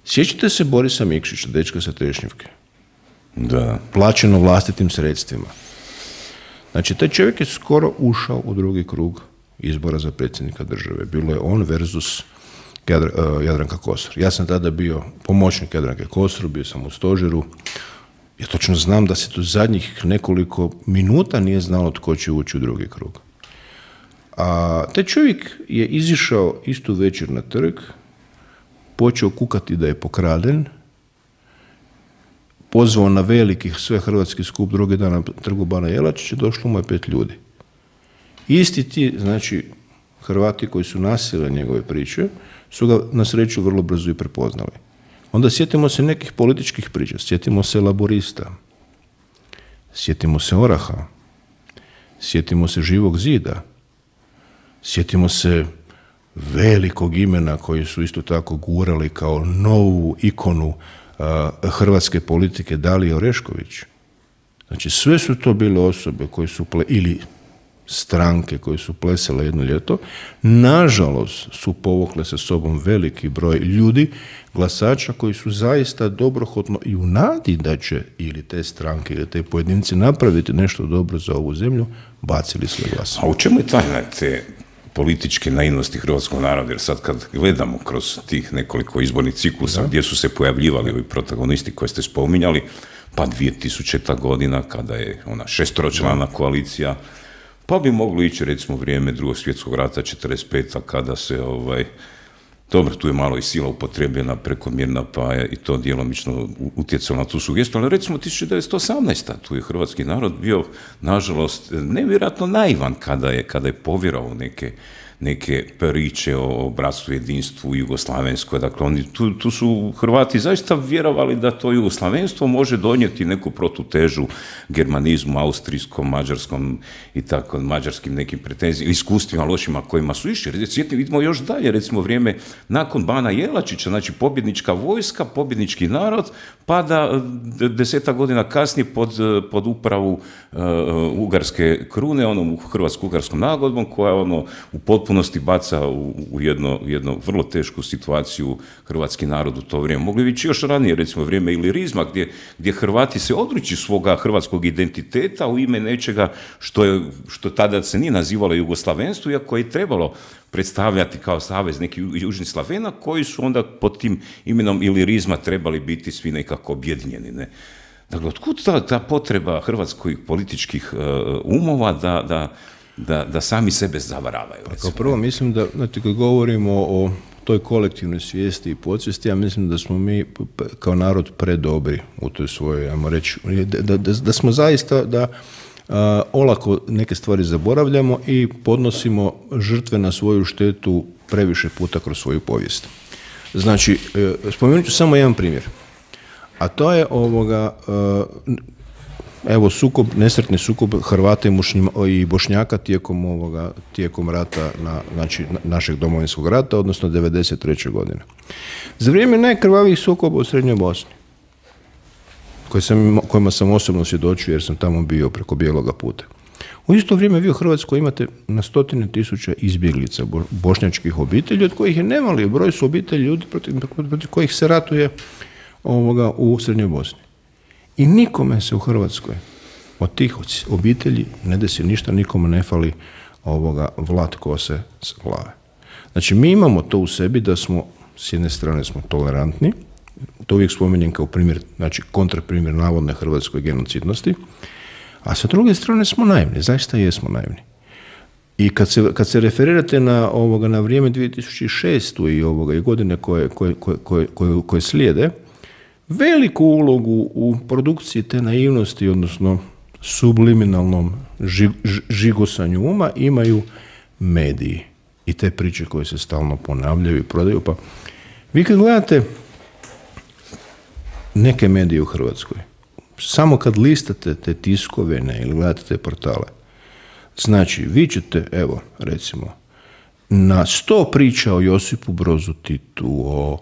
B: Sjećate se Borisa Mikšića, dečka sa Trešnjevke?
A: Da.
B: Plaćeno vlastitim sredstvima. Znači, taj čovjek je skoro ušao u drugi krug izbora za predsjednika države. Bilo je on versus Jadranka Kosor. Ja sam tada bio pomoćnik Jadranke Kosor, bio sam u stožeru. Ja točno znam da se to zadnjih nekoliko minuta nije znalo tko će ući u drugi krug. A taj čovjek je izišao istu večer na trg, počeo kukati da je pokraden, pozvao na veliki svehrvatski skup drugi dan na trgu Bana Jelačića, došlo mu je pet ljudi. Isti ti, znači, Hrvati koji su nasjeli njegove priče, su ga na sreću vrlo brzo i prepoznali. Onda sjetimo se nekih političkih priča, sjetimo se Laborista, sjetimo se Oraha, sjetimo se Živog zida, sjetimo se velikog imena koji su isto tako gurali kao novu ikonu uh, hrvatske politike, Dalije Orešković. Znači sve su to bile osobe koje su, ple, ili stranke koje su plesale jedno ljeto, nažalost su povukle sa sobom veliki broj ljudi, glasača koji su zaista dobrohotno i u nadi da će ili te stranke ili te pojedinci napraviti nešto dobro za ovu zemlju, bacili sve glas.
A: A u čemu je tajna te političke naivnosti hrvatskog naroda? Jer sad kad gledamo kroz tih nekoliko izbornih ciklusa, da, gdje su se pojavljivali ovi protagonisti koje ste spominjali, pa dvije tisućita godina kada je ona šestročlana koalicija, pa bi moglo ići recimo vrijeme Drugog svjetskog rata četrdeset peta kada se ovaj dobro, tu je malo i sila upotrebljena prekomjerna, pa je i to djelomično utjecalo na tu sugestiju, ali recimo tisuću devetsto osamnaesta tu je hrvatski narod bio, nažalost, nevjerojatno naivan kada je, kada je povjerao neke, neke priče o bratstvu, jedinstvu, jugoslavenskoj. Dakle, oni, tu, tu su Hrvati zaista vjerovali da to jugoslavenstvo može donijeti neku protutežu germanizmu, austrijskom, mađarskom i tako, mađarskim nekim pretenzijama, iskustvima lošima kojima su išli. Sjetimo, vidimo još dalje, recimo vrijeme nakon Bana Jelačića, znači pobjednička vojska, pobjednički narod, pa da desetak godina kasnije pod, pod upravu uh, ugarske krune, onom hrvatsko-ugarskom nagodbom, koja ono u potpunosti baca u, u jedno, jedno vrlo tešku situaciju hrvatski narod u to vrijeme. Mogli bi ići još ranije, recimo vrijeme ilirizma, gdje, gdje Hrvati se odriču svoga hrvatskog identiteta u ime nečega što, je, što tada se nije nazivalo jugoslavenstvo, iako je trebalo predstavljati kao savez nekih južnih Slavena, koji su onda pod tim imenom ilirizma trebali biti svi nekako objedinjeni. Ne? Dakle, otkud ta, ta potreba hrvatskih političkih uh, umova da, da, da, da sami sebe zavaravaju?
B: Pa kao prvo, mislim da, znači, kad govorimo o toj kolektivnoj svijesti i podsvijesti, ja mislim da smo mi kao narod predobri u toj svojoj, ajmo reći, da, da, da smo zaista, da Uh, olako neke stvari zaboravljamo i podnosimo žrtve na svoju štetu previše puta kroz svoju povijest. Znači, uh, spomenut ću samo jedan primjer, a to je ovoga, uh, evo sukob, nesretni sukob Hrvata i Bošnjaka tijekom ovoga, tijekom rata, na, znači našeg domovinskog rata, odnosno devedeset treće godine. Za vrijeme najkrvavijih sukoba u Srednjoj Bosni, Koje sam, kojima sam osobno svjedočio jer sam tamo bio preko Bijeloga puta. U isto vrijeme vi u Hrvatskoj imate na stotine tisuća izbjeglica bošnjačkih obitelji, od kojih je nemali broj su obitelji ljudi protiv, protiv kojih se ratuje ovoga u Srednjoj Bosni. I nikome se u Hrvatskoj od tih obitelji ne desi ništa, nikome ne fali ovoga vlat kose s glave. Znači mi imamo to u sebi da smo, s jedne strane smo tolerantni, to uvijek spominjem kao primjer, znači kontraprimjer navodne hrvatskoj genocidnosti, a sa druge strane smo naivni, zaista jesmo naivni. I kad se, kad se referirate na, ovoga, na vrijeme dvije tisuće šeste. i, ovoga, i godine koje, koje, koje, koje, koje slijede, veliku ulogu u produkciji te naivnosti, odnosno subliminalnom ži, žigosanju uma, imaju mediji i te priče koje se stalno ponavljaju i prodaju. Pa vi kad gledate neke medije u Hrvatskoj, samo kad listate te tiskovine ili gledate te portale, znači vi ćete, evo, recimo, na sto priča o Josipu Brozu Titu, o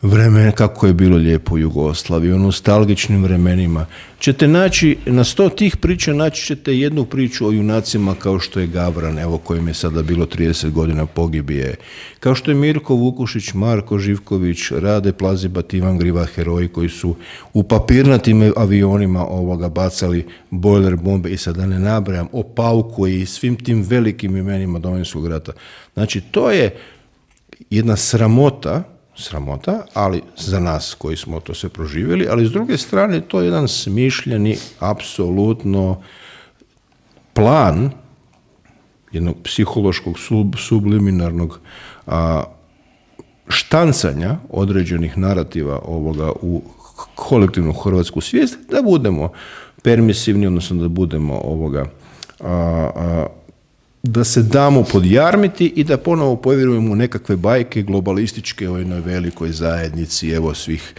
B: vremenu kako je bilo lijepo u Jugoslaviji, o nostalgičnim vremenima, ćete naći, na sto tih priča naći ćete jednu priču o junacima kao što je Gavran, evo kojem je sada bilo trideset godina pogibije, kao što je Mirko Vukušić, Marko Živković, Rade Plazibat, Ivan Griva, heroji koji su u papirnatim avionima ovoga bacali bojler bombe i sada ne nabrajam, o Pauku i svim tim velikim imenima Domovinskog rata. Znači to je jedna sramota, sramota, ali za nas koji smo to sve proživjeli, ali s druge strane to je jedan smišljeni, apsolutno plan jednog psihološkog sub, subliminarnog a, štancanja određenih narativa ovoga u kolektivnu hrvatsku svijest, da budemo permisivni, odnosno da budemo ovoga, a, a, da se damo podjarmiti i da ponovo povjerujemo u nekakve bajke globalističke o jednoj velikoj zajednici, evo svih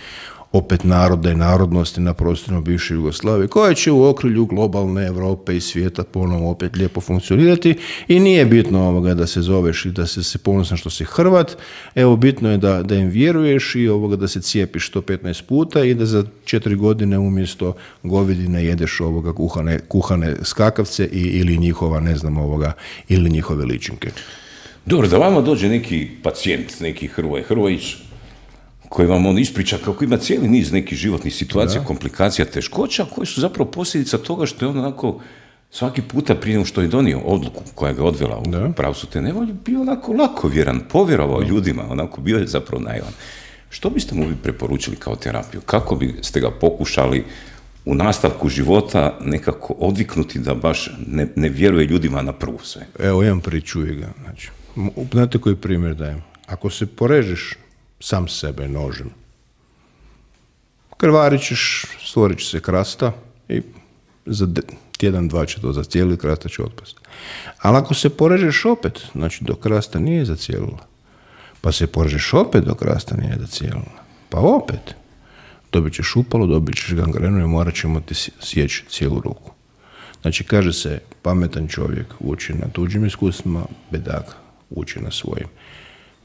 B: opet naroda i narodnosti na prostoru bivše Jugoslavije, koja će u okrilju globalne Europe i svijeta ponovo opet lijepo funkcionirati i nije bitno ovoga da se zoveš i da se, se ponosan što si Hrvat, evo bitno je da, da im vjeruješ i ovoga da se cijepiš sto petnaest puta i da za četiri godine umjesto govedine jedeš ovoga kuhane, kuhane skakavce i, ili njihova, ne znam, ovoga, ili njihove ličinke.
A: Dobro, da vama dođe neki pacijent, neki Hrvoje Hrvojić, koji vam on ispriča kako ima cijeli niz nekih životnih situacija, da. komplikacija, teškoća, koje su zapravo posljedica toga što je on onako svaki puta prije nego što je donio odluku koja ga odvela u pravcu te nevolje, bio onako lakovjeran, povjerovao da. ljudima, onako bio je zapravo naivan. Što biste mu vi preporučili kao terapiju? Kako biste ga pokušali u nastavku života nekako odviknuti da baš ne, ne vjeruje ljudima na prvu sve?
B: Evo, imam priču ga. Znači, znate koji primjer dajem? Ako se porežeš sam sebe nožem, krvarit ćeš, stvorit će se krasta i za tjedan, dva će to zacijeliti, krasta će otpasti. Ali ako se porežeš opet, znači dok krasta nije zacijelila, pa se porežeš opet dok krasta nije zacijelila, pa opet, dobit ćeš upalo, dobit ćeš gangrenu i morat ćemo ti sjeći cijelu ruku. Znači, kaže se, pametan čovjek uči na tuđim iskustvima, bedak uči na svojim.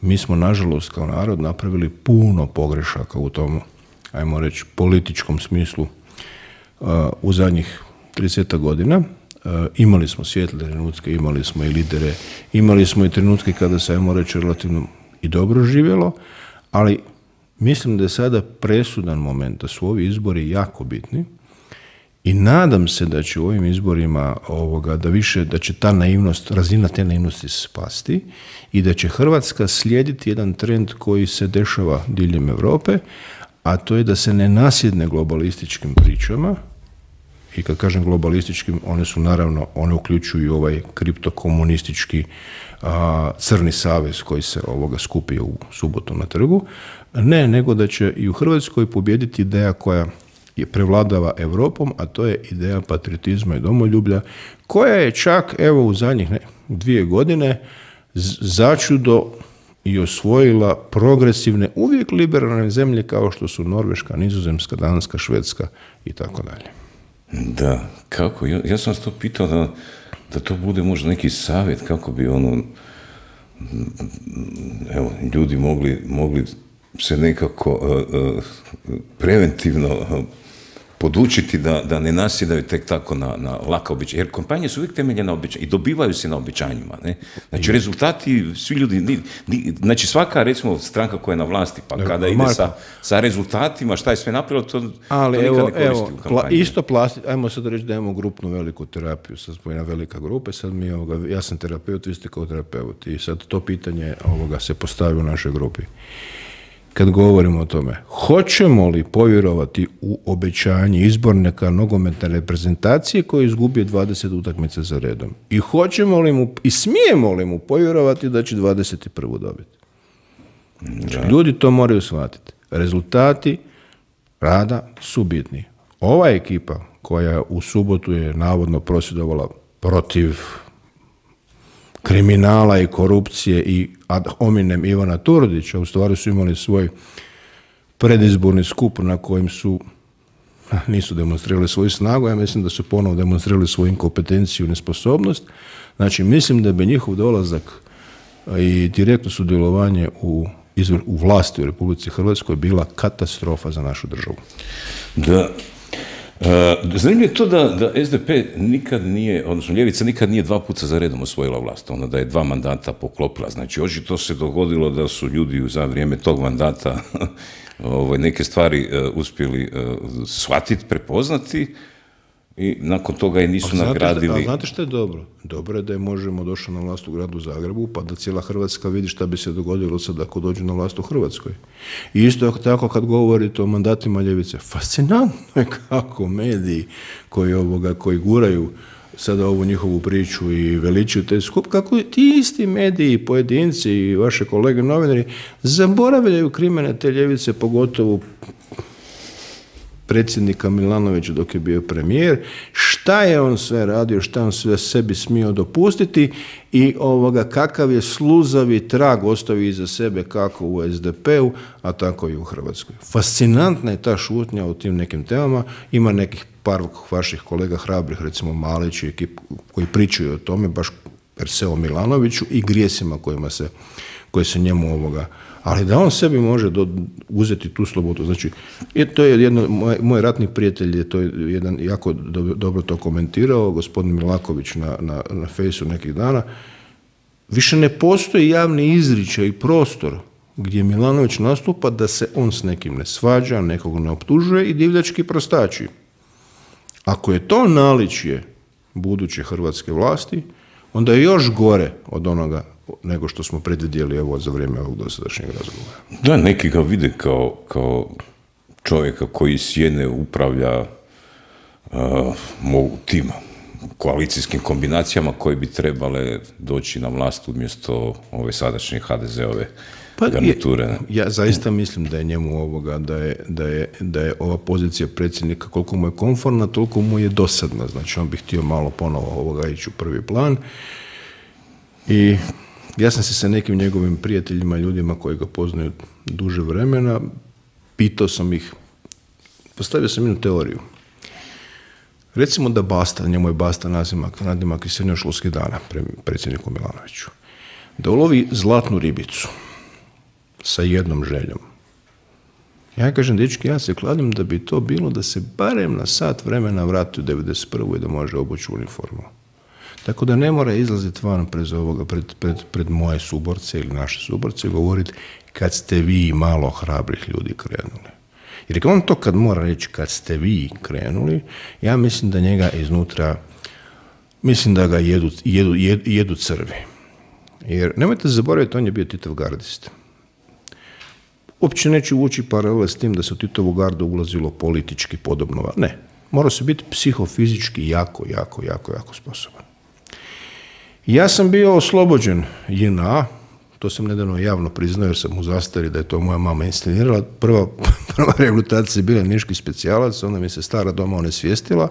B: Mi smo, nažalost, kao narod napravili puno pogrešaka u tom, ajmo reći, političkom smislu uh, u zadnjih trideset godina. Uh, imali smo svijetle trenutke, imali smo i lidere, imali smo i trenutke kada se, ajmo reći, relativno i dobro živjelo, ali mislim da je sada presudan moment, da su ovi izbori jako bitni i nadam se da će u ovim izborima ovoga, da više, da će ta naivnost, razina te naivnosti spasti i da će Hrvatska slijediti jedan trend koji se dešava diljem Europe, a to je da se ne nasjedne globalističkim pričama. I kad kažem globalističkim, one su naravno, one uključuju ovaj kriptokomunistički a, crni savez koji se ovoga skupio u subotu na trgu. Ne, nego da će i u Hrvatskoj pobijediti ideja koja je prevladava Europom, a to je ideja patriotizma i domoljublja, koja je čak, evo, u zadnjih ne, dvije godine začudo i osvojila progresivne, uvijek liberalne zemlje kao što su Norveška, Nizozemska, Danska, Švedska i tako dalje.
A: Da, kako? Ja, ja sam vas to pitao da, da to bude možda neki savjet kako bi ono, evo, ljudi mogli, mogli se nekako uh, uh, preventivno uh, podučiti da, da ne nasjedaju tek tako na, na laka običanja. Jer kompanije su uvijek temeljene na običanjima i dobivaju se na običanjima. Ne? Znači, rezultati, svi ljudi, ni, ni, znači svaka, recimo, stranka koja je na vlasti, pa ne, kada ide sa, sa rezultatima, šta je sve napravilo, to,
B: ali
A: to nikad
B: evo,
A: ne koristi
B: evo,
A: u kampanji.
B: Pla, isto plasti, ajmo sad reći da imamo grupnu veliku terapiju, sad smo jedna velika grupa, sad mi, ovoga, ja sam terapeut, vi ste kao terapeut i sad to pitanje ovoga se postavi u našoj grupi. Kad govorimo o tome, hoćemo li povjerovati u obećanje izbornika nogometne reprezentacije koji je izgubio dvadeset utakmica za redom? I hoćemo li mu, i smijemo li mu povjerovati da će dvadeset prvu dobiti? Znači, ljudi to moraju shvatiti. Rezultati rada su bitni. Ova ekipa koja u subotu je navodno prosvjedovala protiv kriminala i korupcije i ad hominem Ivana Turudića, u stvari su imali svoj predizborni skup na kojem su nisu demonstrirali svoju snagu, ja mislim da su ponovo demonstrirali svoju inkompetenciju i nesposobnost. Znači, mislim da bi njihov dolazak i direktno sudjelovanje u, izvr, u vlasti u Republici Hrvatskoj bila katastrofa za našu državu.
A: Da. Uh, zanimljivo je to da, da es de pe nikad nije, odnosno ljevica nikad nije dva puta za redom osvojila vlast, ona da je dva mandata poklopila. Znači, očito se dogodilo da su ljudi za vrijeme tog mandata ovaj, neke stvari uh, uspjeli uh, shvatiti, prepoznati, i nakon toga je nisu a nagradili.
B: Znate šta, a znate što je dobro? Dobro je da je Možemo došao na vlast u gradu Zagrebu, pa da cijela Hrvatska vidi šta bi se dogodilo sad ako dođu na vlast u Hrvatskoj. I isto tako kad govorite o mandatima ljevice, fascinantno je kako mediji koji, ovoga, koji guraju sada ovu njihovu priču i veličuju te skup, kako ti isti mediji, pojedinci i vaše kolege novinari zaboravljaju krimene te ljevice, pogotovo predsjednika Milanovića dok je bio premijer, šta je on sve radio, šta on sve sebi smio dopustiti i ovoga kakav je sluzavi trag ostavio iza sebe kako u es de pe u, a tako i u Hrvatskoj. Fascinantna je ta šutnja o tim nekim temama, ima nekih par vaših kolega hrabrih, recimo Malić i ekip koji pričaju o tome, baš per se o Milanoviću i grijesima kojima se, koji se njemu ovoga, ali da on sebi može do, uzeti tu slobodu. Znači, to je jedno, moj, moj ratni prijatelj je to jedan jako do, dobro to komentirao, gospodin Milaković na, na, na fejsu nekih dana. Više ne postoji javni izričaj i prostor gdje Milanović nastupa da se on s nekim ne svađa, nekog ne optužuje i divljački prostači. Ako je to naličje buduće hrvatske vlasti, onda je još gore od onoga nego što smo predvidjeli evo za vrijeme ovog dosadašnjeg razgovora.
A: Da, neki ga vide kao, kao čovjeka koji sjene upravlja uh, mogu tim koalicijskim kombinacijama koje bi trebale doći na vlast umjesto ove sadašnje ha de ze-ove pa garniture. Je,
B: ja zaista mislim da je njemu ovoga, da je, da je, da je ova pozicija predsjednika koliko mu je komfortna, toliko mu je dosadna. Znači on bi htio malo ponovo ovoga ići u prvi plan. I ja sam se sa nekim njegovim prijateljima, ljudima koji ga poznaju duže vremena, pitao sam ih, postavio sam jednu teoriju. Recimo da Basta, njemu je Basta nadimak, nadimak iz srednjoškolskih dana, predsjedniku Milanoviću, da ulovi zlatnu ribicu sa jednom željom. Ja kažem, dečki, ja se kladim da bi to bilo da se barem na sat vremena vrati u devedeset prvu i da može obući uniformu. Tako da ne mora izlaziti van pred, ovoga, pred, pred, pred moje suborce ili naše suborce i govoriti kad ste vi malo hrabrih ljudi krenuli. Jer on to kad mora reći kad ste vi krenuli, ja mislim da njega iznutra, mislim da ga jedu, jedu, jedu, jedu crvi. Jer nemojte zaboraviti, on je bio Titov gardist. Uopće neću ući paralele s tim da se u Titovu gardu ulazilo politički podobno. Ne, mora se biti psihofizički jako, jako, jako, jako sposoban. Ja sam bio oslobođen je en a, to sam nedavno javno priznao jer sam u zastari da je to moja mama inscenirala. Prva, prva reabilitacija je bila niški specijalac, onda mi se stara doma onesvijestila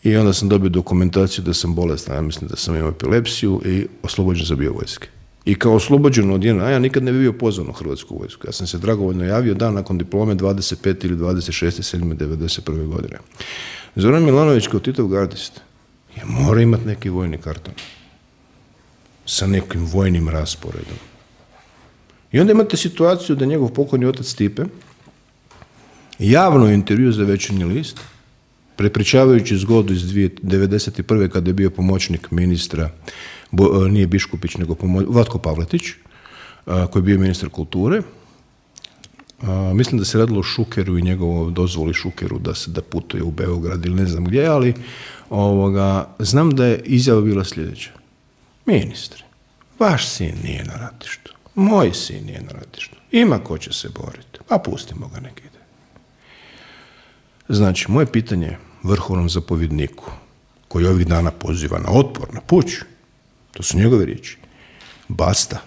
B: i onda sam dobio dokumentaciju da sam bolestan, ja mislim da sam imao epilepsiju i oslobođen za bio vojske. I kao oslobođen od je en a ja nikad ne bi bio pozvan u Hrvatsku vojsku. Ja sam se dragovoljno javio dan nakon diplome dvadeset pete ili dvadeset šeste sedme devedeset prve godine. Zoran Milanović kao Titov gardist je mora imati neki vojni karton sa nekim vojnim rasporedom. I onda imate situaciju da njegov pokojni otac Stipe javno intervju za Večernji list, prepričavajući zgodu iz devedeset prve kada je bio pomoćnik ministra, bo, nije Biškupić, nego pomoć, Vlatko Pavletić, a, koji je bio ministar kulture. A, mislim da se radilo o Šukeru i njegovom dozvoli Šukeru da se da putuje u Beograd ili ne znam gdje, ali ovoga, znam da je izjava bila sljedeća. Ministre, vaš sin nije na ratištu, moj sin nije na ratištu, ima ko će se boriti, a pustimo ga nek ide. Znači, moje pitanje vrhovnom zapovjedniku, koji ovih dana poziva na otpor, na puč, to su njegove riječi, Basta,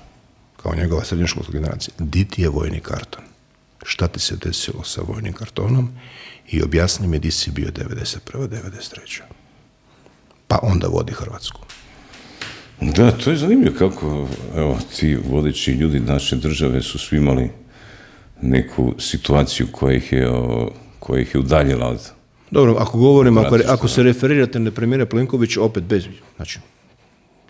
B: kao njegova srednjoškolska generacija, di ti je vojni karton? Šta ti se desilo sa vojnim kartonom? I objasni mi di si bio devedeset prve devedeset treće Pa onda vodi Hrvatsku.
A: Da, to je zanimljivo kako, evo, ti vodeći ljudi naše države su svi imali neku situaciju koja ih je, koja ih je udaljila od...
B: Dobro, ako govorim, ako, ako se referirate na premijera Plenkovića, opet bez... Znači,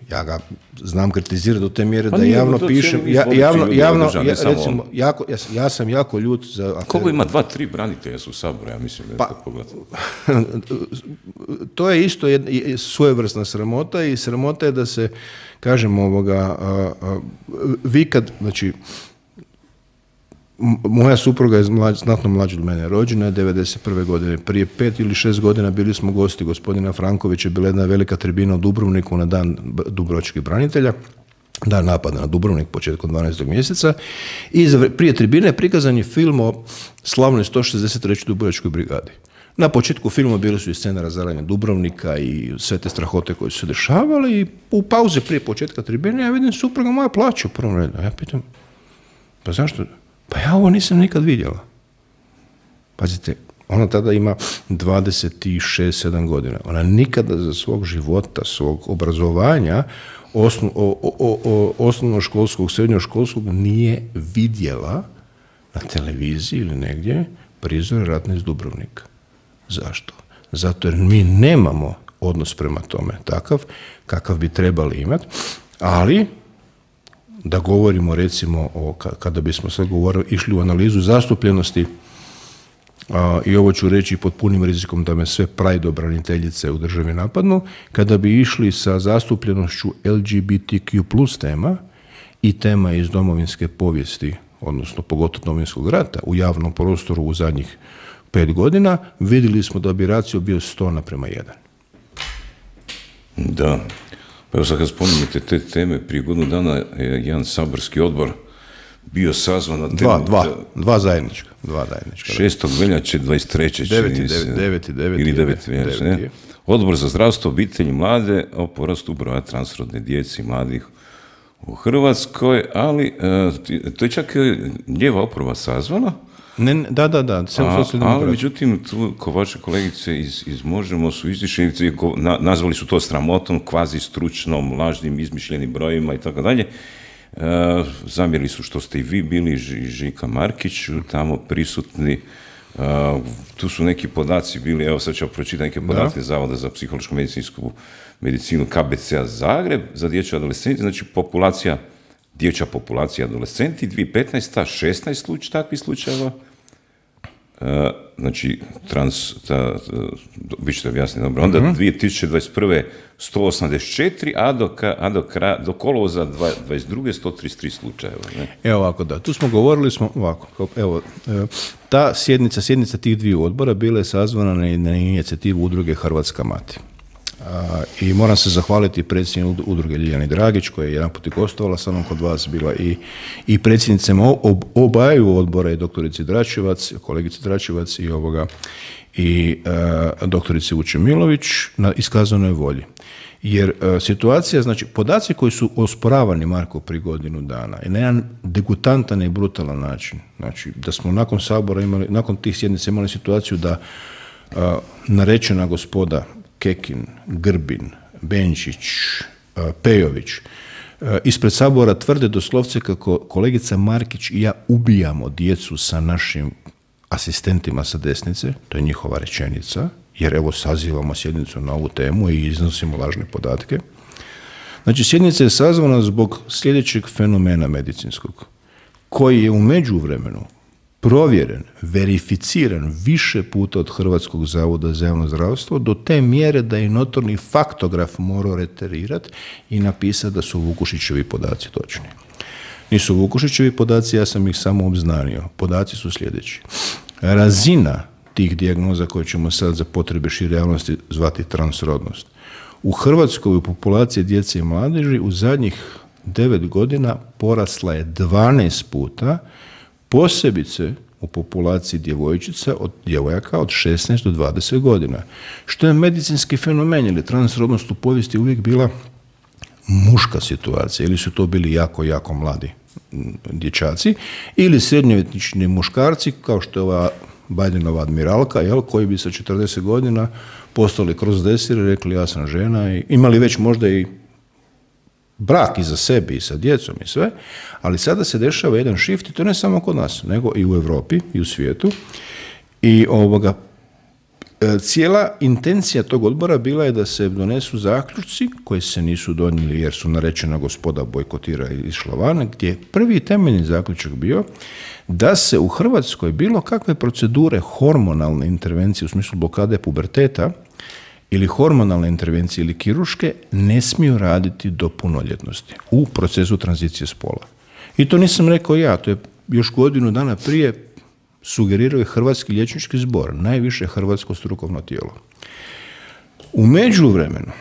B: ja ga znam kritizirati do te mjere pa da javno pišem, ja, javno, javno, držav, ja, recimo, jako, ja, ja sam jako ljut za...
A: Koliko ima dva, tri branitelja su u Saboru, ja mislim da je pa, to pogledati.
B: To je isto jedna svojevrsna sramota i sramota je da se, kažem, ovoga, a, a, vi kad, znači, moja supruga je mlađ, znatno mlađa od mene, rođena je devedeset prve godine. Prije pet ili šest godina bili smo gosti gospodina Frankovića, bila jedna velika tribina u Dubrovniku na dan dubrovačkih branitelja, dan napada na Dubrovnik početkom dvanaestog mjeseca, i prije tribine prikazan je film o slavnoj sto šezdeset trećoj dubrovačkoj brigadi. Na početku filma bili su i scene razaranja Dubrovnika i sve te strahote koje su se dešavale, i u pauze prije početka tribine ja vidim supruga moja plaća u prvom redu. Ja pitam, pa zašto? Pa ja ovo nisam nikad vidjela. Pazite, ona tada ima dvadeset šest sedam godina. Ona nikada za svog života, svog obrazovanja, osno, o, o, o, osnovnoškolskog, srednjoškolskog nije vidjela na televiziji ili negdje prizor ratne iz Dubrovnika. Zašto? Zato jer mi nemamo odnos prema tome takav kakav bi trebali imati, ali da govorimo recimo o, kada bismo sad govorili, išli u analizu zastupljenosti, a, i ovo ću reći pod punim rizikom da me sve prajdobraniteljice u državi napadnu, kada bi išli sa zastupljenošću L G B T Q plus tema i tema iz domovinske povijesti, odnosno pogotovo Domovinskog rata, u javnom prostoru u zadnjih pet godina, vidjeli smo da bi racio bio sto naprema jedan.
A: Da. Pa evo sad kad spominjete te teme, prije godinu dana je jedan saborski odbor bio sazvan na temu...
B: Dva, dva, dva zajednička. Dva zajednička.
A: šestog veljače dvadeset treće
B: deveti, deveti, deveti,
A: ili deveti veljače, ne? Odbor za zdravstvo, obitelj i mlade o porastu broja transrodne djece i mladih u Hrvatskoj, ali to je čak lijeva oporba sazvana.
B: Ne, da, da, da.
A: A, ali međutim, tu ko vaše kolegice iz, iz Možemo su izišli, na, nazvali su to sramotom, kvazi stručnom, lažnim, izmišljenim brojima i tako dalje. Zamjerili su što ste i vi bili, Ž, Žika Markić, tamo prisutni. Uh, tu su neki podaci bili, evo sad ću pročitati neke podatke da. Zavoda za psihološku medicinsku medicinu K B C-a Zagreb za dječju adolescenti, znači populacija, dječja populacija adolescenti, dvije tisuće petnaeste. šesnaest sluč, takvih slučajeva, uh, znači trans, ta, vi ćete objasniti dobro, onda mm-hmm. dvije tisuće dvadeset prve. sto osamdeset četiri, a do, a do, do kolovoza dvadeset druge. sto trideset tri slučajeva. Ne?
B: Evo ovako, da, tu smo govorili, smo ovako, evo, ta sjednica, sjednica tih dviju odbora bila je sazvana na, na inicijativu udruge Hrvatska mati. A, i moram se zahvaliti predsjednici udruge Ljiljani Dragić, koja je jedan put i gostovala sa mnom kod vas, bila i, i predsjednicama ob, obaju odbora, i doktorici Dračevac, kolegici Dračevac i ovoga, i uh, doktorici Vučemilović na iskazanoj volji. Jer uh, situacija, znači podaci koji su osporavani, Marko, prije godinu dana i na jedan degutantan i brutalan način, znači da smo nakon Sabora imali, nakon tih sjednica imali situaciju da uh, narečena gospoda Kekin, Grbin, Benčić, uh, Pejović uh, ispred Sabora tvrde doslovce kako kolegica Markić i ja ubijamo djecu sa našim asistentima sa desnice, to je njihova rečenica, jer evo sazivamo sjednicu na ovu temu i iznosimo lažne podatke. Znači, sjednica je sazvana zbog sljedećeg fenomena medicinskog, koji je u međuvremenu provjeren, verificiran više puta od Hrvatskog zavoda za javno zdravstvo, do te mjere da je notorni faktograf morao reterirati i napisati da su Vukušićevi podaci točni. Nisu Vukušićevi podaci, ja sam ih samo obznanio. Podaci su sljedeći. Razina tih dijagnoza koje ćemo sad za potrebe šire javnosti zvati transrodnost. U Hrvatskoj u populaciji djece i mladeži u zadnjih devet godina porasla je dvanaest puta, posebice u populaciji djevojčica od djevojaka od šesnaest do dvadeset godina. Što je medicinski fenomen, jer transrodnost u povijesti uvijek bila muška situacija, ili su to bili jako, jako mladi dječaci, ili srednjovječni muškarci, kao što je ova Bidenova admiralka, jel, koji bi sa četrdeset godina postali kroz desir i rekli ja sam žena, i imali već možda i brak iza sebe i sa djecom i sve, ali sada se dešava jedan shift, i to ne samo kod nas, nego i u Europi i u svijetu. I ovoga, cijela intencija tog odbora bila je da se donesu zaključci koji se nisu donijeli jer su narečena gospoda bojkotira i išla van, gdje je prvi temeljni zaključak bio da se u Hrvatskoj bilo kakve procedure hormonalne intervencije u smislu blokade puberteta ili hormonalne intervencije ili kirurške ne smiju raditi do punoljetnosti u procesu tranzicije spola. I to nisam rekao ja, to je još godinu dana prije sugerirao je Hrvatski liječnički zbor, najviše hrvatsko strukovno tijelo. U međuvremenu,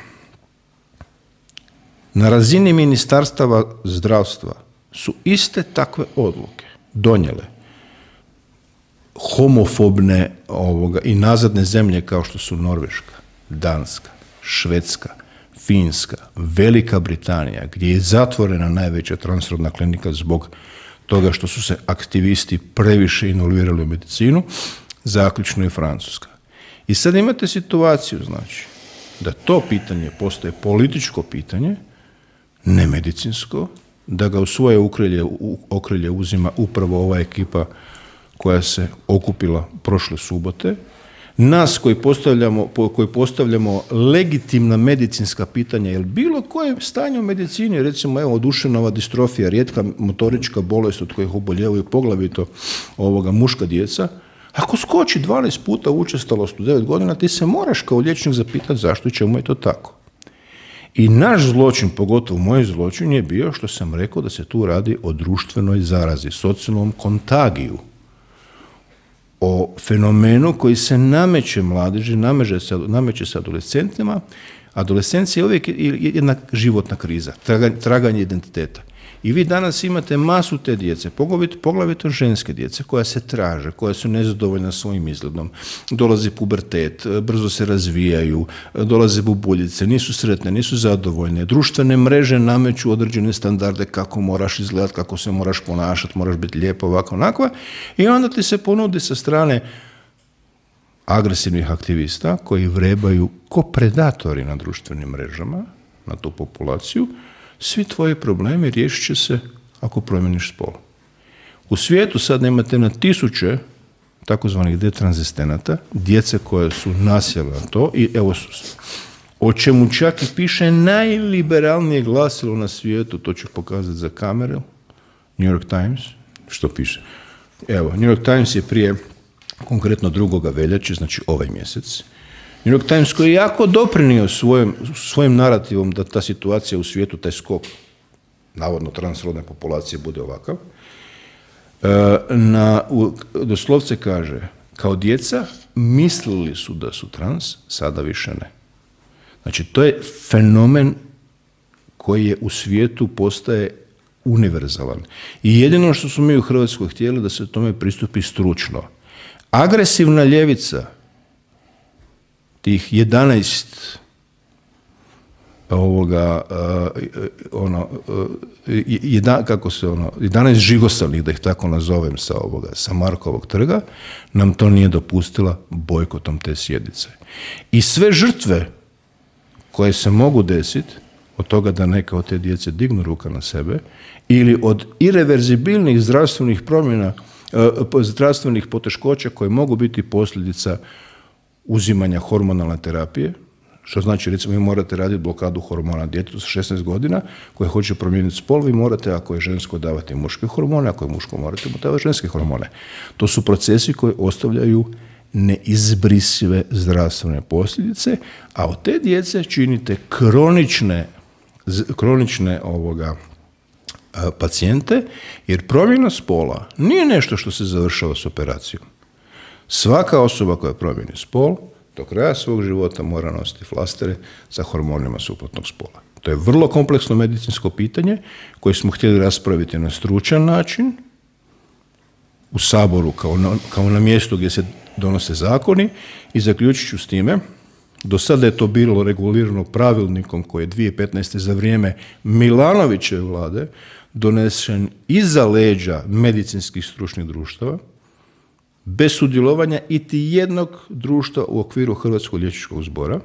B: na razini ministarstava zdravstva su iste takve odluke donijele homofobne ovoga, i nazadne zemlje kao što su Norveška, Danska, Švedska, Finska, Velika Britanija, gdje je zatvorena najveća transrodna klinika zbog toga što su se aktivisti previše involvirali u medicinu, zaključno i Francuska. I sad imate situaciju, znači, da to pitanje postaje političko pitanje, ne medicinsko, da ga u svoje okrilje, okrilje uzima upravo ova ekipa koja se okupila prošle subote. Nas koji postavljamo, koji postavljamo legitimna medicinska pitanja, jer bilo koje stanje u medicini, recimo evo duševna distrofija, rijetka motorička bolest od kojih oboljevaju poglavito ovoga muška djeca, ako skoči dvanaest puta učestalost u devet godina, ti se moraš kao liječnik zapitati zašto i čemu je to tako. I naš zločin, pogotovo moj zločin, je bio što sam rekao da se tu radi o društvenoj zarazi, socijalnom kontagiju, o fenomenu koji se nameće mladeži, nameće se, nameće se adolescentima. Adolescencija je uvijek jedna životna kriza, traganje, traganje identiteta. I vi danas imate masu te djece, poglavito, poglavito ženske djece, koja se traže, koja su nezadovoljna svojim izgledom. Dolazi pubertet, brzo se razvijaju, dolaze bubuljice, nisu sretne, nisu zadovoljne. Društvene mreže nameću određene standarde kako moraš izgledati, kako se moraš ponašati, moraš biti lijepo, ovako, onakva. I onda ti se ponudi sa strane agresivnih aktivista koji vrebaju ko predatori na društvenim mrežama, na tu populaciju. Svi tvoji problemi riješit će se ako promjeniš spol. U svijetu sad imate na tisuće takozvanih detranzistenata, djece koje su nasjela na to, i evo, o čemu čak i piše najliberalnije glasilo na svijetu, to ću pokazati za kameru, New York Times.
A: Što piše?
B: Evo, New York Times je prije, konkretno drugoga veljače, znači ovaj mjesec, New York Times koji je jako doprinio svojim, svojim narativom da ta situacija u svijetu, taj skok, navodno transrodne populacije, bude ovakav, na, u, doslovce kaže, kao djeca mislili su da su trans, sada više ne. Znači, to je fenomen koji je u svijetu postaje univerzalan. I jedino što smo mi u Hrvatskoj htjeli da se tome pristupi stručno. Agresivna ljevica, tih jedanaest ovoga, uh, ono, uh, jedan, kako se ono, jedanaest žigosalnih, da ih tako nazovem, sa ovoga, sa Markovog trga, nam to nije dopustila bojkotom te sjednice. I sve žrtve koje se mogu desiti, od toga da neka od te djece dignu ruka na sebe, ili od ireverzibilnih zdravstvenih promjena, uh, zdravstvenih poteškoća koje mogu biti posljedica uzimanja hormonalne terapije, što znači, recimo, vi morate raditi blokadu hormona djetetu sa šesnaest godina koje hoće promijeniti spol, vi morate, ako je žensko, davati muške hormone, ako je muško, morate mu davati ženske hormone. To su procesi koji ostavljaju neizbrisive zdravstvene posljedice, a od te djece činite kronične, kronične ovoga, pacijente, jer promjena spola nije nešto što se završava s operacijom. Svaka osoba koja promijeni spol do kraja svog života mora nositi flastere sa hormonima suprotnog spola. To je vrlo kompleksno medicinsko pitanje koje smo htjeli raspraviti na stručan način u Saboru kao na, kao na mjestu gdje se donose zakoni, i zaključit ću s time. Do sada je to bilo regulirano pravilnikom koji je dvije tisuće petnaeste. za vrijeme Milanovićeve vlade donesen iza leđa medicinskih stručnih društava, bez sudjelovanja iti jednog društva u okviru Hrvatskog liječničkog zbora,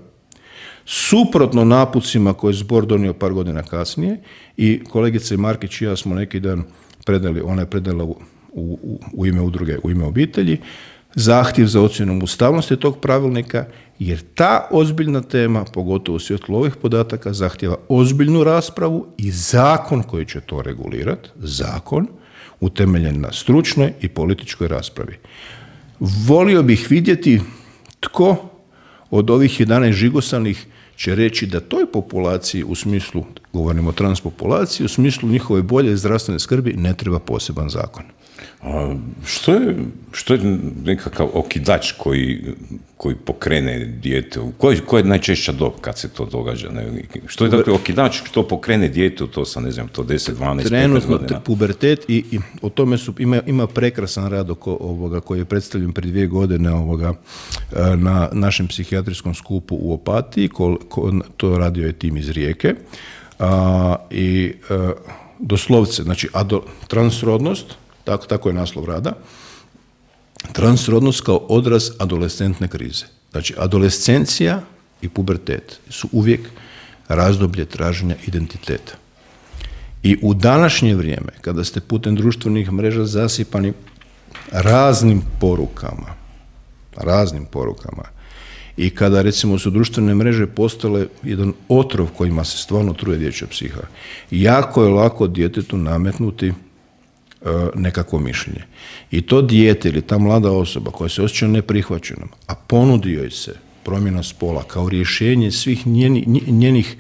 B: suprotno napucima koje je zbor donio par godina kasnije, i kolegica Markić i ja smo neki dan predali, ona je predala u, u, u ime udruge, u ime obitelji, zahtjev za ocjenom ustavnosti tog pravilnika, jer ta ozbiljna tema, pogotovo u svjetlu ovih podataka, zahtjeva ozbiljnu raspravu i zakon koji će to regulirati, zakon utemeljen na stručnoj i političkoj raspravi. Volio bih vidjeti tko od ovih jedanaest žigosanih će reći da toj populaciji, u smislu, govorimo o transpopulaciji, u smislu njihove bolje zdravstvene skrbi, ne treba poseban zakon.
A: A što je, što je nekakav okidač koji, koji pokrene dijete? Koja je najčešća dob kad se to događa? Ne? Što je dakle okidač što pokrene dijete u to sa, ne znam, to deset, dvanaest, petnaest godina?
B: Trenutno pubertet i, i o tome su, ima, ima prekrasan rad oko ovoga koji je predstavljen prije dvije godine ovoga, na našem psihijatrijskom skupu u Opatiji, ko, ko, to radio je tim iz Rijeke. A, i a, doslovce, znači ado, transrodnost, tako, tako je naslov rada, transrodnost kao odraz adolescentne krize. Znači, adolescencija i pubertet su uvijek razdoblje traženja identiteta. I u današnje vrijeme, kada ste putem društvenih mreža zasipani raznim porukama, raznim porukama, i kada, recimo, su društvene mreže postale jedan otrov kojima se stvarno truje dječja psiha, jako je lako djetetu nametnuti nekakvo mišljenje. I to dijete ili ta mlada osoba koja se osjeća neprihvaćenom, a ponudi joj se promjena spola kao rješenje svih njenih, njenih,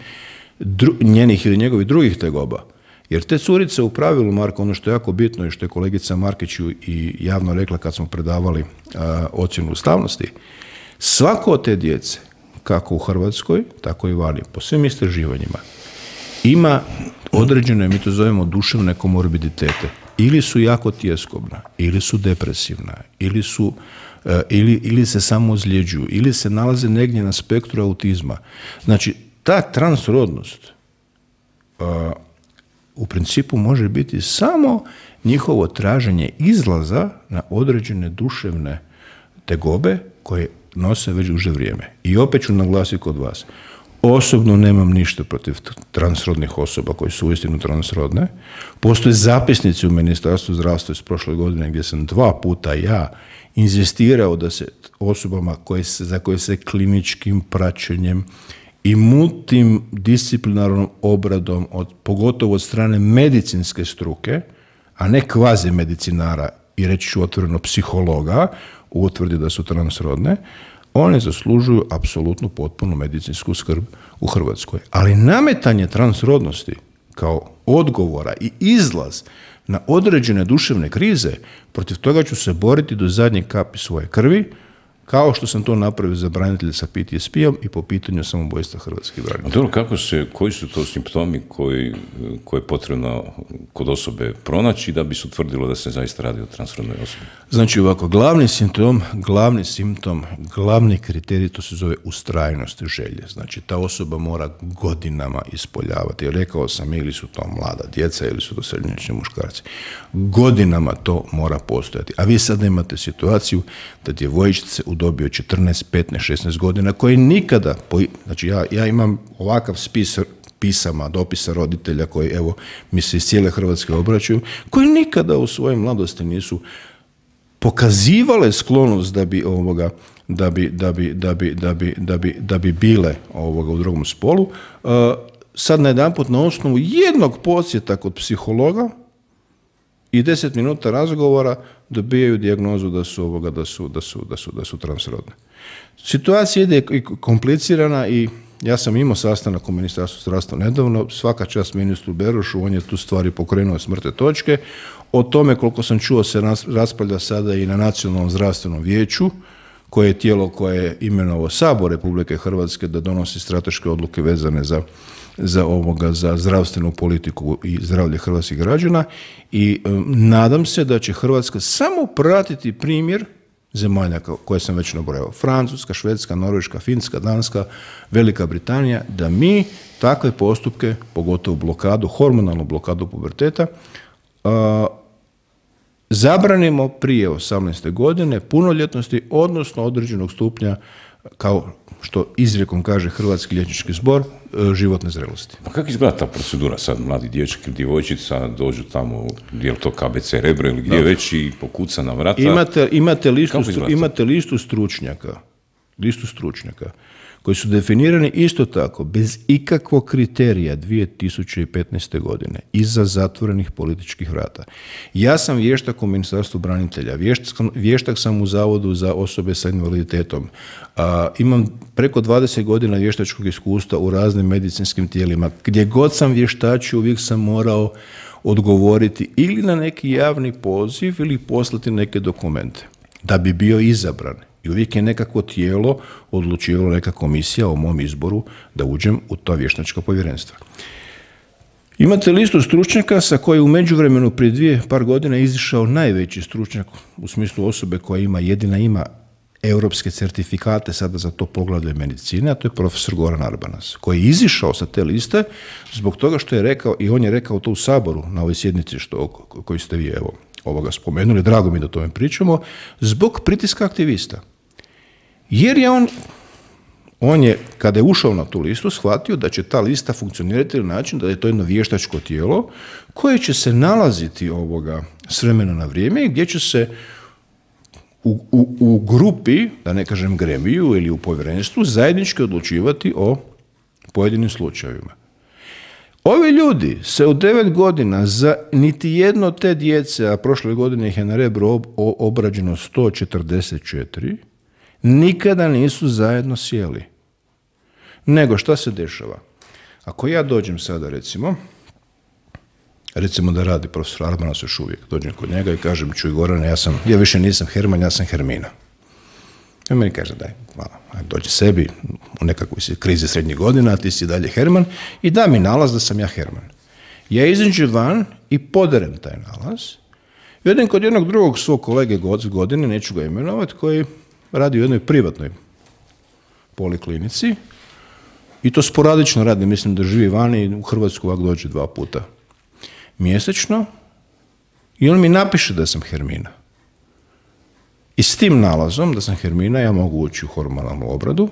B: dru, njenih ili njegovih drugih tegoba, jer te curice u pravilu, Marko, ono što je jako bitno i što je kolegica Markić i javno rekla kad smo predavali a, ocjenu ustavnosti, svako od te djece, kako u Hrvatskoj, tako i vani, po svim istraživanjima, ima određene, mi to zovemo, duševne komorbiditete. Ili su jako tjeskobna, ili su depresivna, ili, su, uh, ili, ili se samo ozljeđuju, ili se nalaze negdje na spektru autizma. Znači, ta transrodnost uh, u principu može biti samo njihovo traženje izlaza na određene duševne tegobe koje nose već duže vrijeme. I opet ću naglasiti kod vas. Osobno nemam ništa protiv transrodnih osoba koji su uistinu transrodne. Postoje zapisnici u Ministarstvu zdravstva iz prošle godine gdje sam dva puta ja inzistirao da se osobama koje se, za koje se kliničkim praćenjem i multidisciplinarnom obradom, od, pogotovo od strane medicinske struke, a ne kvazi medicinara i reći ću otvoreno psihologa, utvrdi da su transrodne, one zaslužuju apsolutnu potpunu medicinsku skrb u Hrvatskoj. Ali nametanje transrodnosti kao odgovora i izlaz na određene duševne krize, protiv toga ću se boriti do zadnje kapi svoje krvi, kao što sam to napravio za branitelje sa P T S P-om i po pitanju samoubojstva hrvatskih branitelja.
A: Dobro, kako se, koji su to simptomi koji, koje je potrebno kod osobe pronaći da bi se utvrdilo da se zaista radi o transrodnoj osobi?
B: Znači ovako, glavni simptom, glavni simptom, glavni kriterij, to se zove ustrajnost želje. Znači ta osoba mora godinama ispoljavati. Rekao sam, ili su to mlada djeca, ili su to srednjoškolski muškarci. Godinama to mora postojati. A vi sad imate situaciju da djevojčice u dobi od četrnaest, petnaest, šesnaest godina, koji nikada, znači ja, ja imam ovakav spis pisama, dopisa roditelja koji, evo, mi se iz cijele Hrvatske obraćaju, koji nikada u svojoj mladosti nisu pokazivale sklonost da bi ovoga, da bi, da bi, da bi, da bi, da bi, da bi bile ovoga u drugom spolu, uh, sad najedanput na osnovu jednog podsjeta kod psihologa i deset minuta razgovora dobijaju dijagnozu da su ovoga, da su, da su, da su, da su transrodne. Situacija ide komplicirana i ja sam imao sastanak u Ministarstvu zdravstva nedavno, svaka čast ministru Berošu, on je tu stvari pokrenuo s mrtve točke. O tome, koliko sam čuo, se raspravlja sada i na Nacionalnom zdravstvenom vijeću, koje je tijelo koje je imenovao Sabor Republike Hrvatske da donosi strateške odluke vezane za, za, ovoga, za zdravstvenu politiku i zdravlje hrvatskih građana i um, nadam se da će Hrvatska samo pratiti primjer zemalja koje sam već nabrojao. Francuska, Švedska, Norveška, Finska, Danska, Velika Britanija, da mi takve postupke, pogotovo blokadu, hormonalnu blokadu puberteta, uh, zabranimo prije osamnaeste godine punoljetnosti, odnosno određenog stupnja, kao što izrijekom kaže Hrvatski liječnički zbor, životne zrelosti.
A: Pa kako izgleda ta procedura sad? Mladi dječak ili djevojčica dođu tamo, je li to K B C Rebro ili gdje već i pokuca na vrata?
B: Imate, imate, listu, imate listu stručnjaka, listu stručnjaka koji su definirani isto tako, bez ikakvog kriterija dvije tisuće petnaeste. godine, iza zatvorenih političkih vrata. Ja sam vještak u Ministarstvu branitelja, vještak, vještak sam u Zavodu za osobe sa invaliditetom, a, imam preko dvadeset godina vještačkog iskustva u raznim medicinskim tijelima. Gdje god sam vještačio, uvijek sam morao odgovoriti ili na neki javni poziv ili poslati neke dokumente da bi bio izabran. I uvijek je nekako tijelo odlučivalo, neka komisija o mom izboru da uđem u to vještačko povjerenstvo. Imate listu stručnjaka sa koje u međuvremenu prije dvije par godina izišao najveći stručnjak u smislu osobe koja ima jedina ima europske certifikate sada za to poglavlje medicine, a to je profesor Goran Arbanas, koji je izišao sa te liste zbog toga što je rekao, i on je rekao to u Saboru na ovoj sjednici što, koju ste vi evo, ovoga spomenuli, drago mi da o tome pričamo, zbog pritiska aktivista. Jer je on, on je, kada je ušao na tu listu, shvatio da će ta lista funkcionirati na način da je to jedno vještačko tijelo koje će se nalaziti ovoga s vremena na vrijeme i gdje će se u, u, u grupi, da ne kažem gremiju ili u povjerenstvu, zajednički odlučivati o pojedinim slučajevima. Ovi ljudi se u devet godina za niti jedno te djece, a prošle godine ih je na Rebru obrađeno sto četrdeset četiri, nikada nisu zajedno sjeli. Nego šta se dešava? Ako ja dođem sada recimo, recimo da radi profesor Arbanas još uvijek, dođem kod njega i kažem, čuj Gorane, ja, sam, ja više nisam Herman, ja sam Hermina. I on meni kaže, daj, malo, dođi sebi u nekakvoj krizi srednjih godina, a ti si dalje Herman, i da mi nalaz da sam ja Herman. Ja izađem van i poderem taj nalaz i odem kod jednog drugog svog kolege godine, neću ga imenovati, koji radi u jednoj privatnoj poliklinici i to sporadično radi, mislim da živi vani i u Hrvatsku ovak dođe dva puta mjesečno i on mi napiše da sam Hermina. I s tim nalazom da sam Hermina ja mogu ući u hormonalnu obradu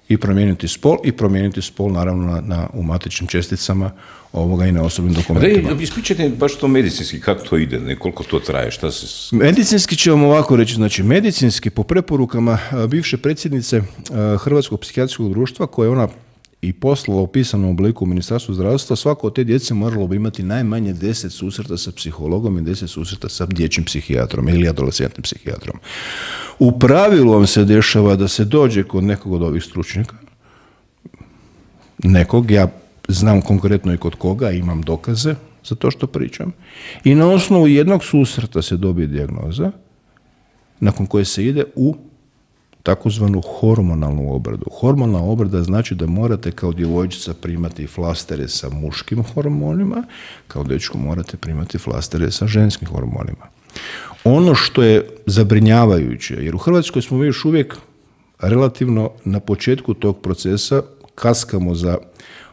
B: i promijeniti spol i promijeniti spol naravno na, na, u matičnim česticama ovoga i na osobnim dokumentima.
A: Da, ispričajte baš to medicinski, kako to ide, ne, koliko to traje, šta se...
B: Medicinski ću vam ovako reći, znači medicinski po preporukama bivše predsjednice Hrvatskog psihijatrijskog društva koje ona i poslala u pisanom obliku u Ministarstvu zdravstva, svako od te djece moralo bi imati najmanje deset susreta sa psihologom i deset susreta sa dječjim psihijatrom ili adolescentnim psihijatrom. U pravilu vam se dešava da se dođe kod nekog od ovih stručnjaka, nekog, ja znam konkretno i kod koga, imam dokaze za to što pričam, i na osnovu jednog susreta se dobije dijagnoza nakon koje se ide u takozvanu hormonalnu obradu. Hormonalna obrada znači da morate kao djevojčica primati flastere sa muškim hormonima, kao dečko morate primati flastere sa ženskim hormonima. Ono što je zabrinjavajuće, jer u Hrvatskoj smo mi još uvijek relativno na početku tog procesa, kaskamo za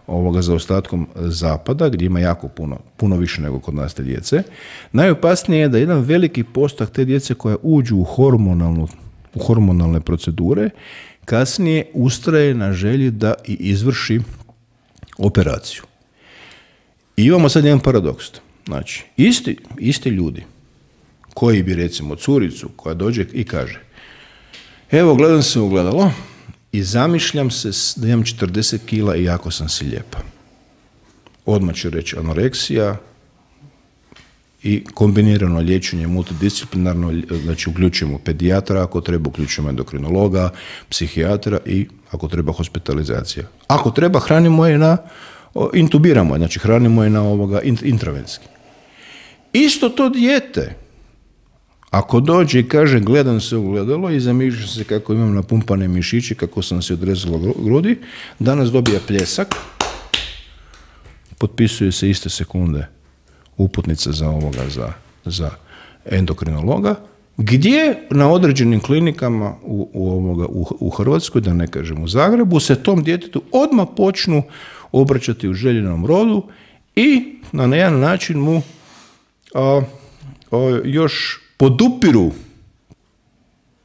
B: ovoga zaostatkom zapada, gdje ima jako puno, puno više nego kod nas te djece. Najopasnije je da jedan veliki postak te djece koja uđu u hormonalnu u hormonalne procedure, kasnije ustraje na želji da i izvrši operaciju. I imamo sad jedan paradoks. Znači, isti, isti ljudi koji bi recimo curicu koja dođe i kaže, evo gledam se u ogledalo i zamišljam se da imam četrdeset kila i jako sam si lijepa. Odmah ću reći anoreksija, i kombinirano liječenje multidisciplinarno, znači uključujemo pedijatra, ako treba uključujemo endokrinologa, psihijatra i ako treba hospitalizacija. Ako treba hranimo je na, intubiramo je, znači hranimo je na ovoga intravenski. Isto to dijete, ako dođe i kaže gledam se u gledalo i zamišljam se kako imam napumpane mišiće, kako sam se odrezala grudi, danas dobija pljesak, potpisuje se iste sekunde uputnica za ovoga, za, za endokrinologa, gdje na određenim klinikama u, u, ovoga, u, u Hrvatskoj, da ne kažem u Zagrebu, se tom djetetu odmah počnu obraćati u željenom rodu i na jedan način mu a, a, još podupiru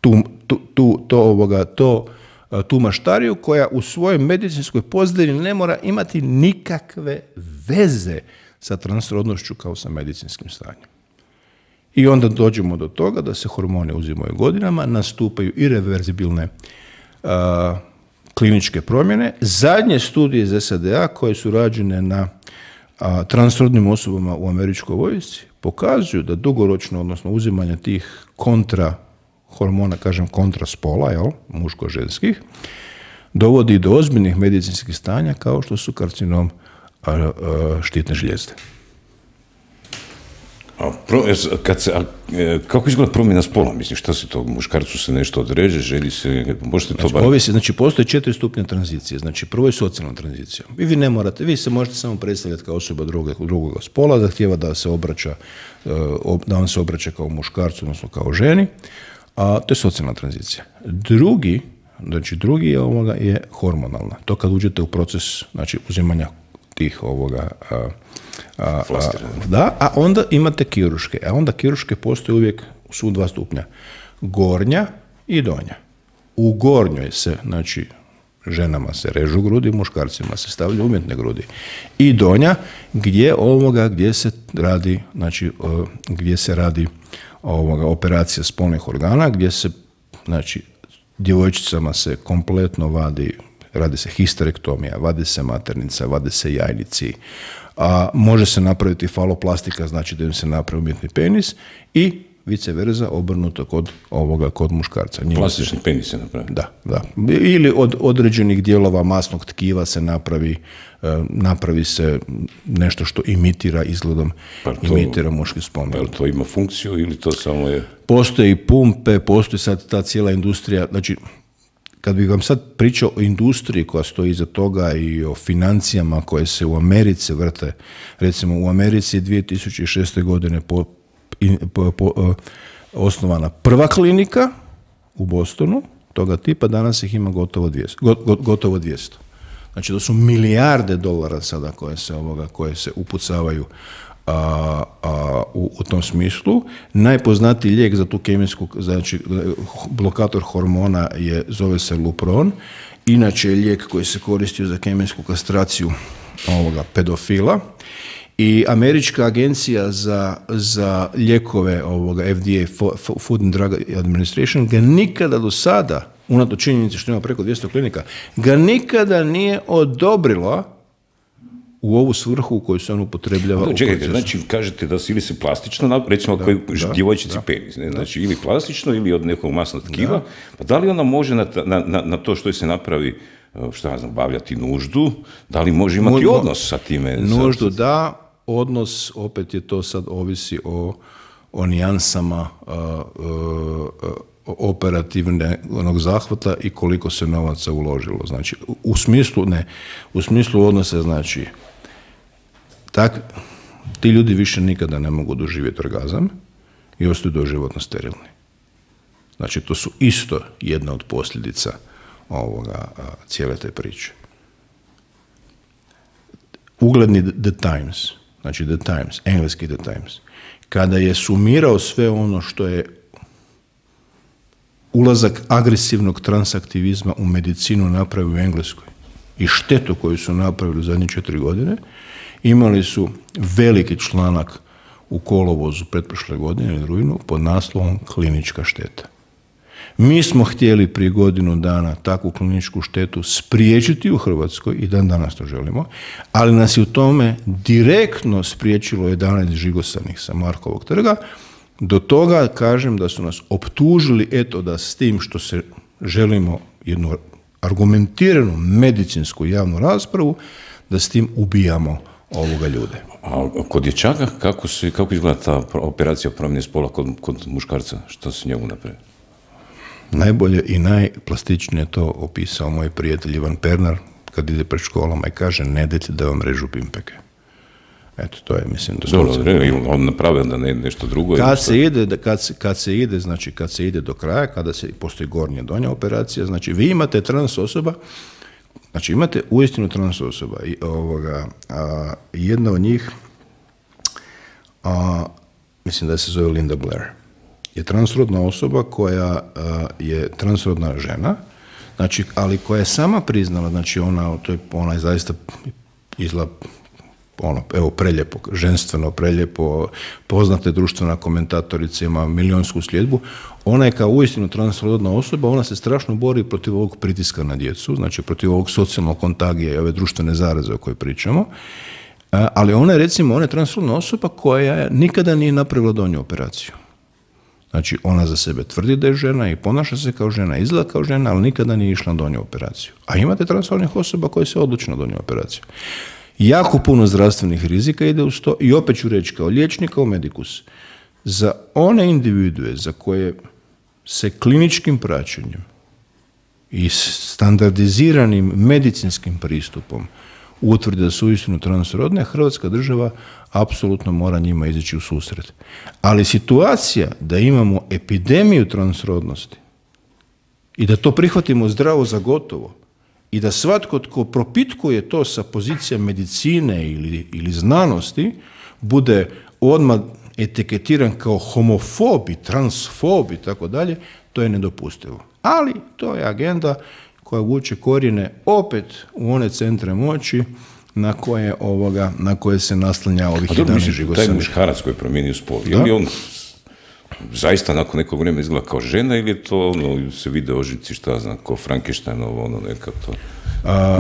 B: tu, tu, tu, to, ovoga, to, a, tu maštariju koja u svojoj medicinskoj pozadini ne mora imati nikakve veze sa transrodnošću kao sa medicinskim stanjem. I onda dođemo do toga da se hormoni uzimaju godinama, nastupaju irreverzibilne a, kliničke promjene. Zadnje studije iz S A D A koje su rađene na a, transrodnim osobama u američkoj vojsci pokazuju da dugoročno, odnosno uzimanje tih kontra hormona, kažem kontra spola, jel, muško-ženskih, dovodi do ozbiljnih medicinskih stanja kao što su karcinom štitne žlijezde.
A: A, pro, kad se, a, kako izgleda promjena spola? Mislim, šta se to, muškarcu se nešto odreže, želi se, možete to
B: znači,
A: bar...
B: ovisi, znači, postoje četiri stupnja tranzicije. Znači, prvo je socijalna tranzicija. I vi ne morate, vi se možete samo predstavljati kao osoba drugog, drugog spola, zahtijeva da se obraća, da on se obraća kao muškarcu, odnosno kao ženi, a to je socijalna tranzicija. Drugi, znači, drugi je, ovoga, je hormonalna. To kad uđete u proces, znači, uzimanja tih ovoga... A, A, a, da, a onda imate kirurške. A onda kirurške postoje uvijek su dva stupnja. Gornja i donja. U gornjoj se, znači, ženama se režu grudi, muškarcima se stavljaju umjetne grudi. I donja, gdje ovoga, gdje se radi, znači, gdje se radi ovoga, operacija spolnih organa, gdje se, znači, djevojčicama se kompletno vadi, radi se histerektomija, vadi se maternica, vadi se jajnici, a može se napraviti faloplastika, znači da im se napravi umjetni penis i vice versa obrnuto kod ovoga, kod muškarca.
A: Plastični penis se napravi?
B: Da, da. Ili od određenih dijelova masnog tkiva se napravi, napravi se nešto što imitira izgledom, to, imitira muški spolni organ.
A: To ima funkciju ili to samo je...
B: Postoji pumpe, postoji sad ta cijela industrija, znači kad bih vam sad pričao o industriji koja stoji iza toga i o financijama koje se u Americi vrte, recimo u Americi dvije tisuće šeste. godine po, po, po, osnovana prva klinika u Bostonu, toga tipa, danas ih ima gotovo dvjesto. Gotovo dvjesto. Znači to su milijarde dolara sada koje se, ovoga, koje se upucavaju A, a, u, u tom smislu. Najpoznatiji lijek za tu kemijsku, znači blokator hormona je, zove se Lupron, inače je lijek koji se koristio za kemijsku kastraciju ovoga pedofila i Američka agencija za, za lijekove ovoga F D A, Food and Drug Administration, ga nikada do sada, unatoč činjenici što ima preko dvjesto klinika, ga nikada nije odobrilo u ovu svrhu u kojoj se on upotrebljava.
A: No, čekajte, znači kažete da se ili se plastično, recimo da, koji da, djevojčici da, penis, ne? Znači da. Ili plastično ili od nekog masnog tkiva, da. Pa da li ona može na, na, na, na to što se napravi, šta ja znam, bavljati nuždu, da li može imati Mo, odnos sa time?
B: Nuždu da, odnos, opet je to sad ovisi o, o nijansama uh, uh, operativnog zahvata i koliko se novaca uložilo. Znači, u smislu, ne, u smislu odnosa, znači, tak, ti ljudi više nikada ne mogu doživjeti orgazam i ostaju doživotno sterilni. Znači, to su isto jedna od posljedica ovoga, cijele te priče. Ugledni The Times, znači The Times, engleski The Times, kada je sumirao sve ono što je ulazak agresivnog transaktivizma u medicinu napravio u Engleskoj i štetu koju su napravili u zadnje četiri godine, imali su veliki članak u kolovozu pretprošle godine ili rujnu pod naslovom klinička šteta. Mi smo htjeli prije godinu dana takvu kliničku štetu spriječiti u Hrvatskoj i dan danas to želimo, ali nas je u tome direktno spriječilo jedanaest žigosanih sa Markovog trga. Do toga kažem da su nas optužili eto da s tim što se želimo jednu argumentiranu medicinsku javnu raspravu, da s tim ubijamo ovoga ljude.
A: A kod dječaka kako, se, kako izgleda ta operacija promjene spola kod, kod muškarca? Što se njemu napravi?
B: Najbolje i najplastičnije to opisao moj prijatelj Ivan Pernar kad ide pred školama i kaže ne dajte da vam režu pimpeke. Eto, to je, mislim, da
A: Dobro, on napravio da ne nešto drugo.
B: Kad se ide, kad se, kad se ide, znači, kad se ide do kraja, kada se postoji gornja donja operacija, znači, vi imate trans osoba, znači, imate uistinu trans osoba i ovoga, a, jedna od njih, a, mislim da se zove Linda Blair, je transrodna osoba koja a, je transrodna žena, znači, ali koja je sama priznala, znači, ona, to je, ona je zaista izgleda ono, evo, preljepo, ženstveno, preljepo, poznate društvena komentatorica, ima milionsku sljedbu, ona je kao uistinu transrodna osoba, ona se strašno bori protiv ovog pritiska na djecu, znači protiv ovog socijalnog kontagija i ove društvene zaraze o kojoj pričamo, ali ona je, recimo, ona je transrodna osoba koja nikada nije napravila donju operaciju. Znači, ona za sebe tvrdi da je žena i ponaša se kao žena, izgleda kao žena, ali nikada nije išla na donju operaciju. A imate transrodnih osoba koje se odluče na donju operaciju. Jako puno zdravstvenih rizika ide uz to i opet ću reći kao liječnik, kao medikus, za one individue za koje se kliničkim praćenjem i standardiziranim medicinskim pristupom utvrdi da su uistinu transrodne, Hrvatska država apsolutno mora njima izaći u susret. Ali situacija da imamo epidemiju transrodnosti i da to prihvatimo zdravo za gotovo i da svatko tko propitkuje to sa pozicija medicine ili, ili znanosti bude odmah etiketiran kao homofobi, transfobi i tako dalje, to je nedopustivo. Ali to je agenda koja vuče korijene opet u one centre moći na koje, ovoga, na koje se naslanja ovih jedanaest živosanja.
A: Taj muškarac koji je promijenio spol, je li on zaista nakon nekog vremena izgleda kao žena ili je to, ono, se vide ožici, šta znam, kao Frankensteinovo, ono, neka to...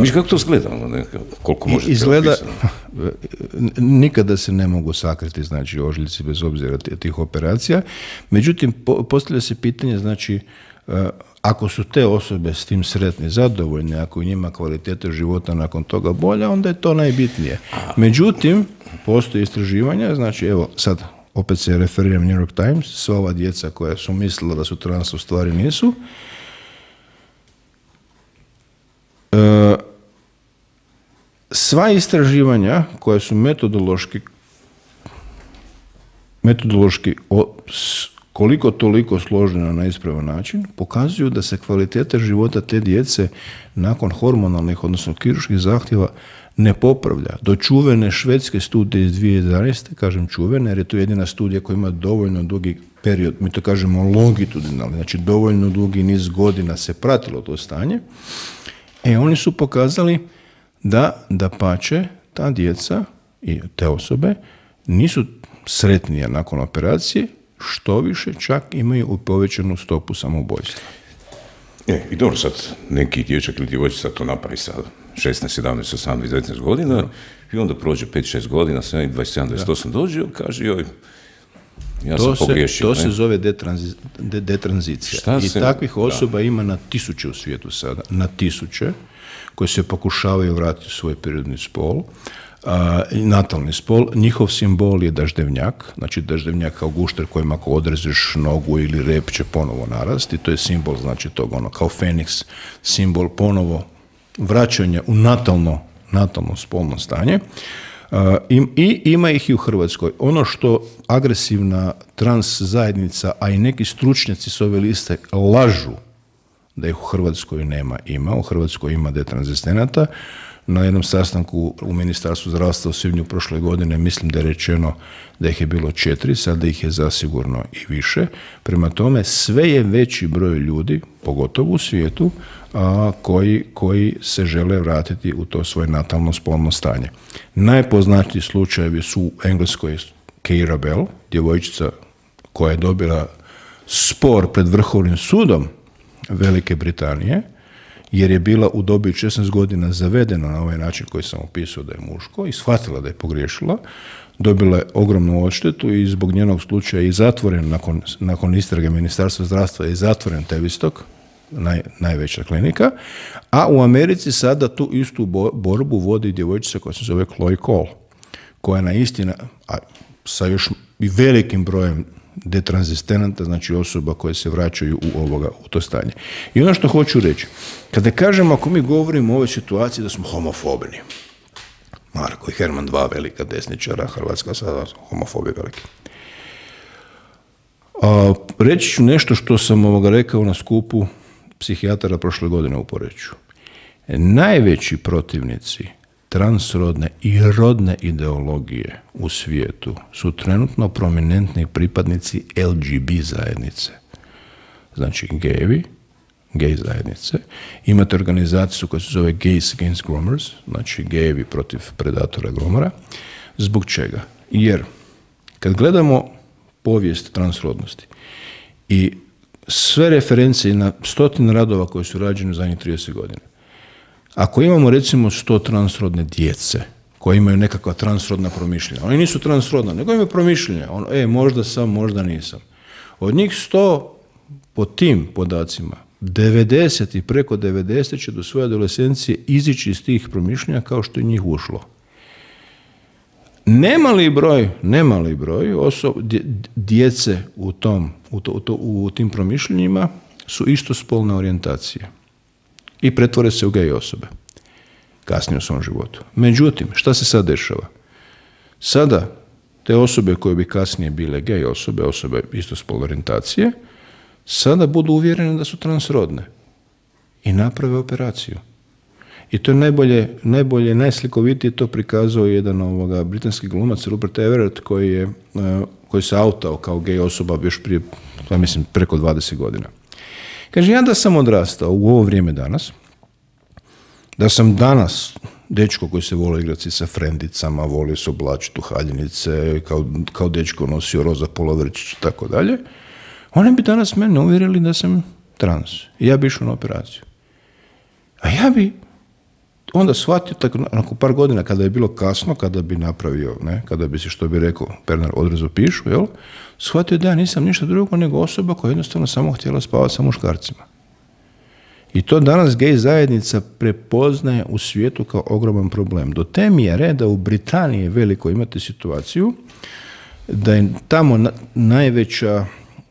A: Miš kako to izgleda, ono, neka, koliko možete
B: izgleda,
A: opisati?
B: Nikada se ne mogu sakriti, znači, ožiljci bez obzira tih operacija. Međutim, po, postavlja se pitanje, znači, ako su te osobe s tim sretni, zadovoljne, ako je njima kvaliteta života nakon toga bolja, onda je to najbitnije. Međutim, postoje istraživanja, znači, evo, sad, opet se referiram New York Times, sva ova djeca koja su mislila da su trans, u stvari nisu. E, sva istraživanja koja su metodološki metodološki o, s, koliko toliko složena na ispravan način, pokazuju da se kvaliteta života te djece nakon hormonalnih, odnosno kirurških zahtjeva ne popravlja. Do čuvene švedske studije iz dvije tisuće jedanaeste, kažem čuvene, jer je to jedina studija koja ima dovoljno dugi period, mi to kažemo longitudinalni, znači dovoljno dugi niz godina se pratilo to stanje, e oni su pokazali da, da pače ta djeca i te osobe nisu sretnije nakon operacije, što više čak imaju povećanu stopu samoubojstva.
A: E, i dobro, sad neki dječak ili djevojčica to napravi sad šesnaest, sedamnaest, osamnaest, devetnaest godina da. I onda prođe pet šest godina, dvadeset sedam, dvadeset osam da. Dođe i kaže joj, ja to sam pogriješio.
B: To ne? se zove detranzi, de, detranzicija. Šta I se, takvih osoba da. ima na tisuće u svijetu sada, na tisuće, koje se pokušavaju vratiti u svoj prirodni spol. Uh, natalni spol, njihov simbol je daždevnjak, znači daždevnjak kao gušter kojem ako odrežeš nogu ili rep će ponovo narasti, to je simbol, znači tog ono, kao Feniks, simbol ponovo vraćanja u natalno, natalno spolno stanje. Uh, i, I ima ih i u Hrvatskoj. Ono što agresivna trans zajednica, a i neki stručnjaci s ove liste lažu da ih u Hrvatskoj nema, ima. U Hrvatskoj ima detranzistenata. Na jednom sastanku u Ministarstvu zdravstva u svibnju prošle godine mislim da je rečeno da ih je bilo četiri, sada ih je zasigurno i više. Prema tome, sve je veći broj ljudi, pogotovo u svijetu, a, koji, koji se žele vratiti u to svoje natalno spolno stanje. Najpoznatiji slučajevi su u Engleskoj Keira Bell, djevojčica koja je dobila spor pred Vrhovnim sudom Velike Britanije, jer je bila u dobi šesnaest godina zavedena na ovaj način koji sam opisao da je muško i shvatila da je pogriješila, dobila je ogromnu odštetu i zbog njenog slučaja i zatvoren nakon, nakon istrage Ministarstva zdravstva je zatvoren Tavistock, naj, najveća klinika, a u Americi sada tu istu bo, borbu vodi djevojčica koja se zove Chloe Cole, koja na istina, a sa još i velikim brojem detranzistenata, znači osoba koje se vraćaju u, ovoga, u to stanje. I ono što hoću reći, kada kažemo, ako mi govorimo o ovoj situaciji da smo homofobni, Marko i Herman, dva velika desničara, Hrvatska sada homofobi veliki. A, reći ću nešto što sam ovoga rekao na skupu psihijatara prošle godine u Poreču. Najveći protivnici transrodne i rodne ideologije u svijetu su trenutno prominentni pripadnici L G B zajednice. Znači gejevi, gej zajednice. Imate organizaciju koja se zove Gays Against Groomers, znači gejevi protiv predatora gromora. Zbog čega? Jer kad gledamo povijest transrodnosti i sve referencije na stotine radova koje su rađene u zadnjih trideset godina, ako imamo recimo sto transrodne djece koje imaju nekakva transrodna promišljenja, oni nisu transrodna, nego imaju promišljenja, ono, e, možda sam, možda nisam. Od njih sto po tim podacima, devedeset i preko devedeset će do svoje adolescencije izići iz tih promišljenja kao što je njih ušlo. Nemali broj, nemali broj osob, djece u, tom, u, to, u, to, u tim promišljenjima su istospolne orijentacije i pretvore se u gej osobe kasnije u svom životu. Međutim, šta se sad dešava? Sada te osobe koje bi kasnije bile gej osobe, osobe istospolne orijentacije, sada budu uvjerene da su transrodne i naprave operaciju. I to je najbolje, najbolje, najslikovitije to prikazao jedan ovoga britanski glumac Rupert Everett koji je, koji se autao kao gej osoba još prije, ja mislim, preko dvadeset godina. Kaže, ja da sam odrastao u ovo vrijeme danas, da sam danas dečko koji se volio igrati sa frendicama, volio se oblačiti u haljinice, kao, kao dečko nosio roza polovrčić i tako dalje, oni bi danas mene uvjerili da sam trans. I ja bi išao na operaciju. A ja bi onda shvatio, tako, nakon par godina, kada je bilo kasno, kada bi napravio, ne, kada bi se, što bi rekao Pernar, odrezo pišu, jel, shvatio da ja nisam ništa drugo nego osoba koja jednostavno samo htjela spavati sa muškarcima. I to danas gej zajednica prepoznaje u svijetu kao ogroman problem. Do te mjere da u Britaniji veliko imate situaciju da je tamo na, najveća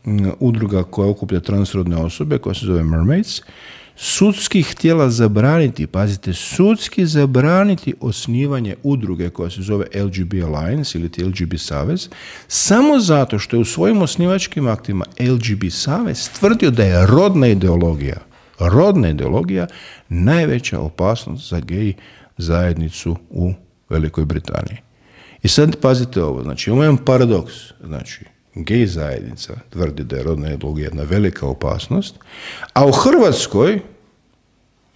B: m, udruga koja okuplja transrodne osobe, koja se zove Mermaids, sudski htjela zabraniti, pazite, sudski zabraniti osnivanje udruge koja se zove L G B Alliance ili L G B Savez, samo zato što je u svojim osnivačkim aktima L G B Savez tvrdio da je rodna ideologija, rodna ideologija najveća opasnost za gej zajednicu u Velikoj Britaniji. I sad pazite ovo, znači imamo jedan paradoks, znači gej zajednica tvrdi da je rodna ideologija jedna velika opasnost, a u Hrvatskoj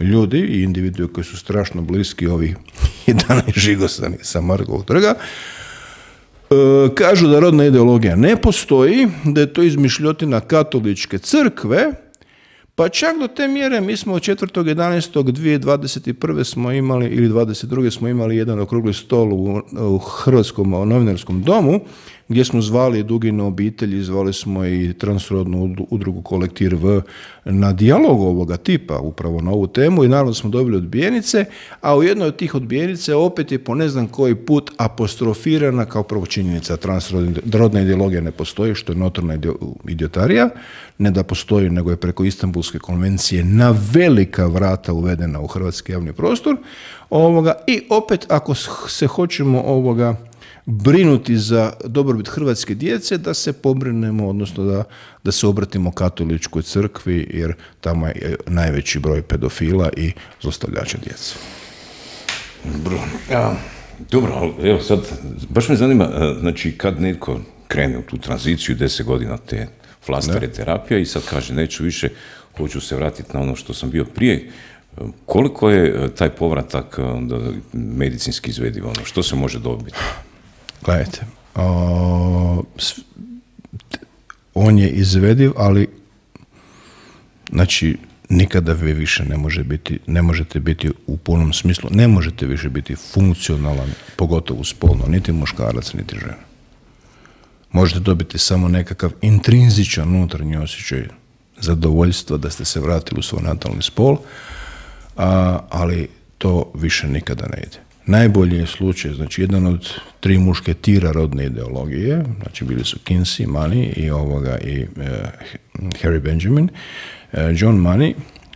B: ljudi i individue koji su strašno bliski ovih jedanaest žigosani sa Markovog trga, e, kažu da rodna ideologija ne postoji, da je to izmišljotina katoličke crkve, pa čak do te mjere mi smo od četvrtog jedanaestog dvije tisuće dvadeset prve smo imali, ili dvadeset druge smo imali jedan okrugli stol u, u Hrvatskom novinarskom domu, gdje smo zvali Dugine obitelji, zvali smo i transrodnu udrugu Kolektiv V na dijalog ovoga tipa, upravo na ovu temu, i naravno smo dobili odbijenice, a u jednoj od tih odbijenice opet je po ne znam koji put apostrofirana kao prvo činjenica transrodna ideologija ne postoji, što je notorna idiotarija, ne da postoji, nego je preko Istanbulske konvencije na velika vrata uvedena u hrvatski javni prostor, ovoga, i opet ako se hoćemo ovoga brinuti za dobrobit hrvatske djece, da se pobrinemo, odnosno da, da se obratimo katoličkoj crkvi, jer tamo je najveći broj pedofila i zlostavljača djece.
A: Dobro, ja, dobro, ali evo sad, baš me zanima, znači kad netko krene u tu tranziciju, deset godina te flastere terapija i sad kaže neću više, hoću se vratiti na ono što sam bio prije, koliko je taj povratak onda medicinski izvediv, ono, što se može dobiti?
B: Gledajte, o, on je izvediv, ali znači nikada vi više ne, može biti, ne možete biti u punom smislu, ne možete više biti funkcionalan, pogotovo spolno, niti muškarac, niti žena. Možete dobiti samo nekakav intrinzičan unutarnji osjećaj zadovoljstva da ste se vratili u svoj natalni spol, a, ali to više nikada ne ide. Najbolji je slučaj, znači jedan od tri mušketira rodne ideologije, znači bili su Kinsey, Money i, ovoga, i uh, Harry Benjamin. Uh, John Money,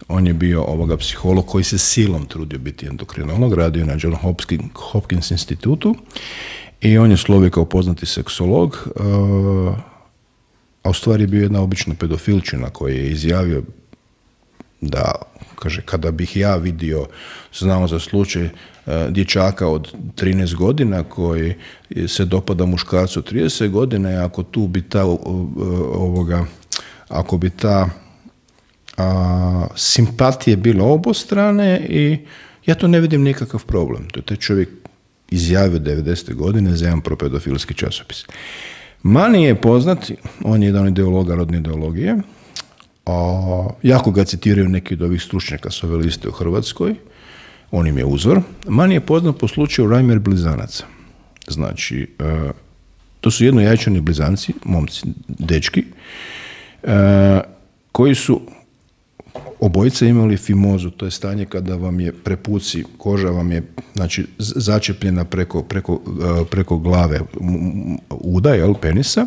B: on je bio ovoga psiholog koji se silom trudio biti endokrinolog, radio na John Hopkins, Hopkins institutu i on je slovio kao poznati seksolog, uh, a u stvari je bio jedna obična pedofilčina koji je izjavio da, kaže, kada bih ja vidio, znamo za slučaj uh, dječaka od trinaest godina koji se dopada muškarcu od trideset godina, ako tu bi ta uh, ovoga, ako bi ta a, simpatije bile obostrane, i ja to ne vidim nikakav problem. To je taj čovjek izjavio devedesete godine za jedan propedofilski časopis. Mani je poznat, on je jedan ideologa rodne ideologije, a, jako ga citiraju neki od ovih stručnjaka s ove liste u Hrvatskoj, on im je uzor. Mani je poznat po slučaju Reimer blizanaca. Znači, a, to su jednojajčani blizanci, momci, dečki, a, koji su obojica imali fimozu, to je stanje kada vam je prepuci, koža vam je znači, začepljena preko, preko, preko glave uda, jel, penisa,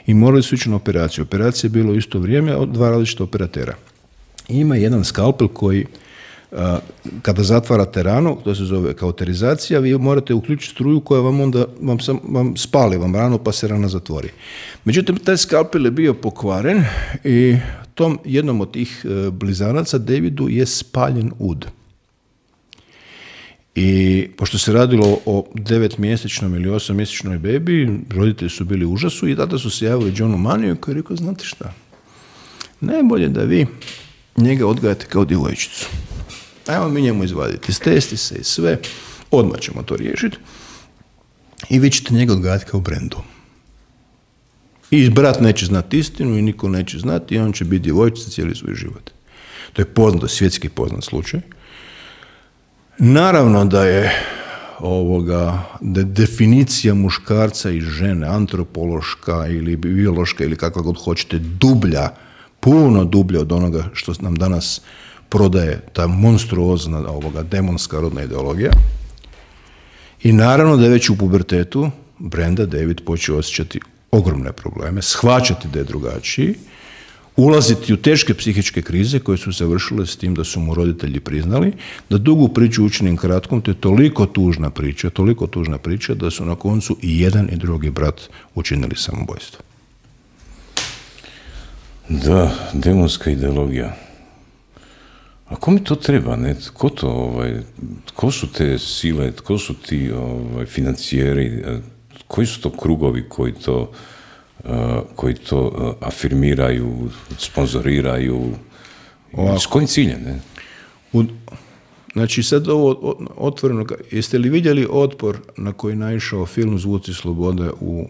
B: i morali su ići na operaciju. Operacija je bilo u isto vrijeme od dva različita operatera. Ima jedan skalpel koji kada zatvarate ranu, to se zove kauterizacija, vi morate uključiti struju koja vam onda vam, sam, vam spali vam ranu pa se rana zatvori. Međutim, taj skalpel je bio pokvaren i tom jednom od tih blizanaca, Davidu, je spaljen ud. I pošto se radilo o devetmjesečnom ili osmomjesečnoj bebi, roditelji su bili u užasu i tada su se javili Johnu Maniju koji je rekao, znate šta, najbolje da vi njega odgajate kao djevojčicu. Ajmo mi njemu izvaditi testise i sve, odmah ćemo to riješiti i vi ćete njega odgajati kao Brendu. I brat neće znati istinu i niko neće znati i on će biti djevojčica cijeli svoj život. To je poznato, svjetski poznat slučaj. Naravno da je ovoga, da je definicija muškarca i žene, antropološka ili biološka ili kakva god hoćete, dublja, puno dublja od onoga što nam danas prodaje ta monstruozna ovoga, demonska rodna ideologija. I naravno da je već u pubertetu Brenda David počeo osjećati ogromne probleme, shvaćati da je drugačiji, ulaziti u teške psihičke krize koje su završile s tim da su mu roditelji priznali, da dugu priču učinim kratkom, to je toliko tužna priča, toliko tužna priča da su na koncu i jedan i drugi brat učinili samoubojstvo.
A: Da, demonska ideologija. A ko mi to treba, ne? Ko to, ovaj, ko su te sile, ko su ti ovaj, financijeri, koji su to krugovi koji to, uh, koji to uh, afirmiraju, sponzoriraju, ovako. S kojim ciljem, ne?
B: U, znači sad ovo otvoreno, jeste li vidjeli otpor na koji je naišao film Zvuci slobode u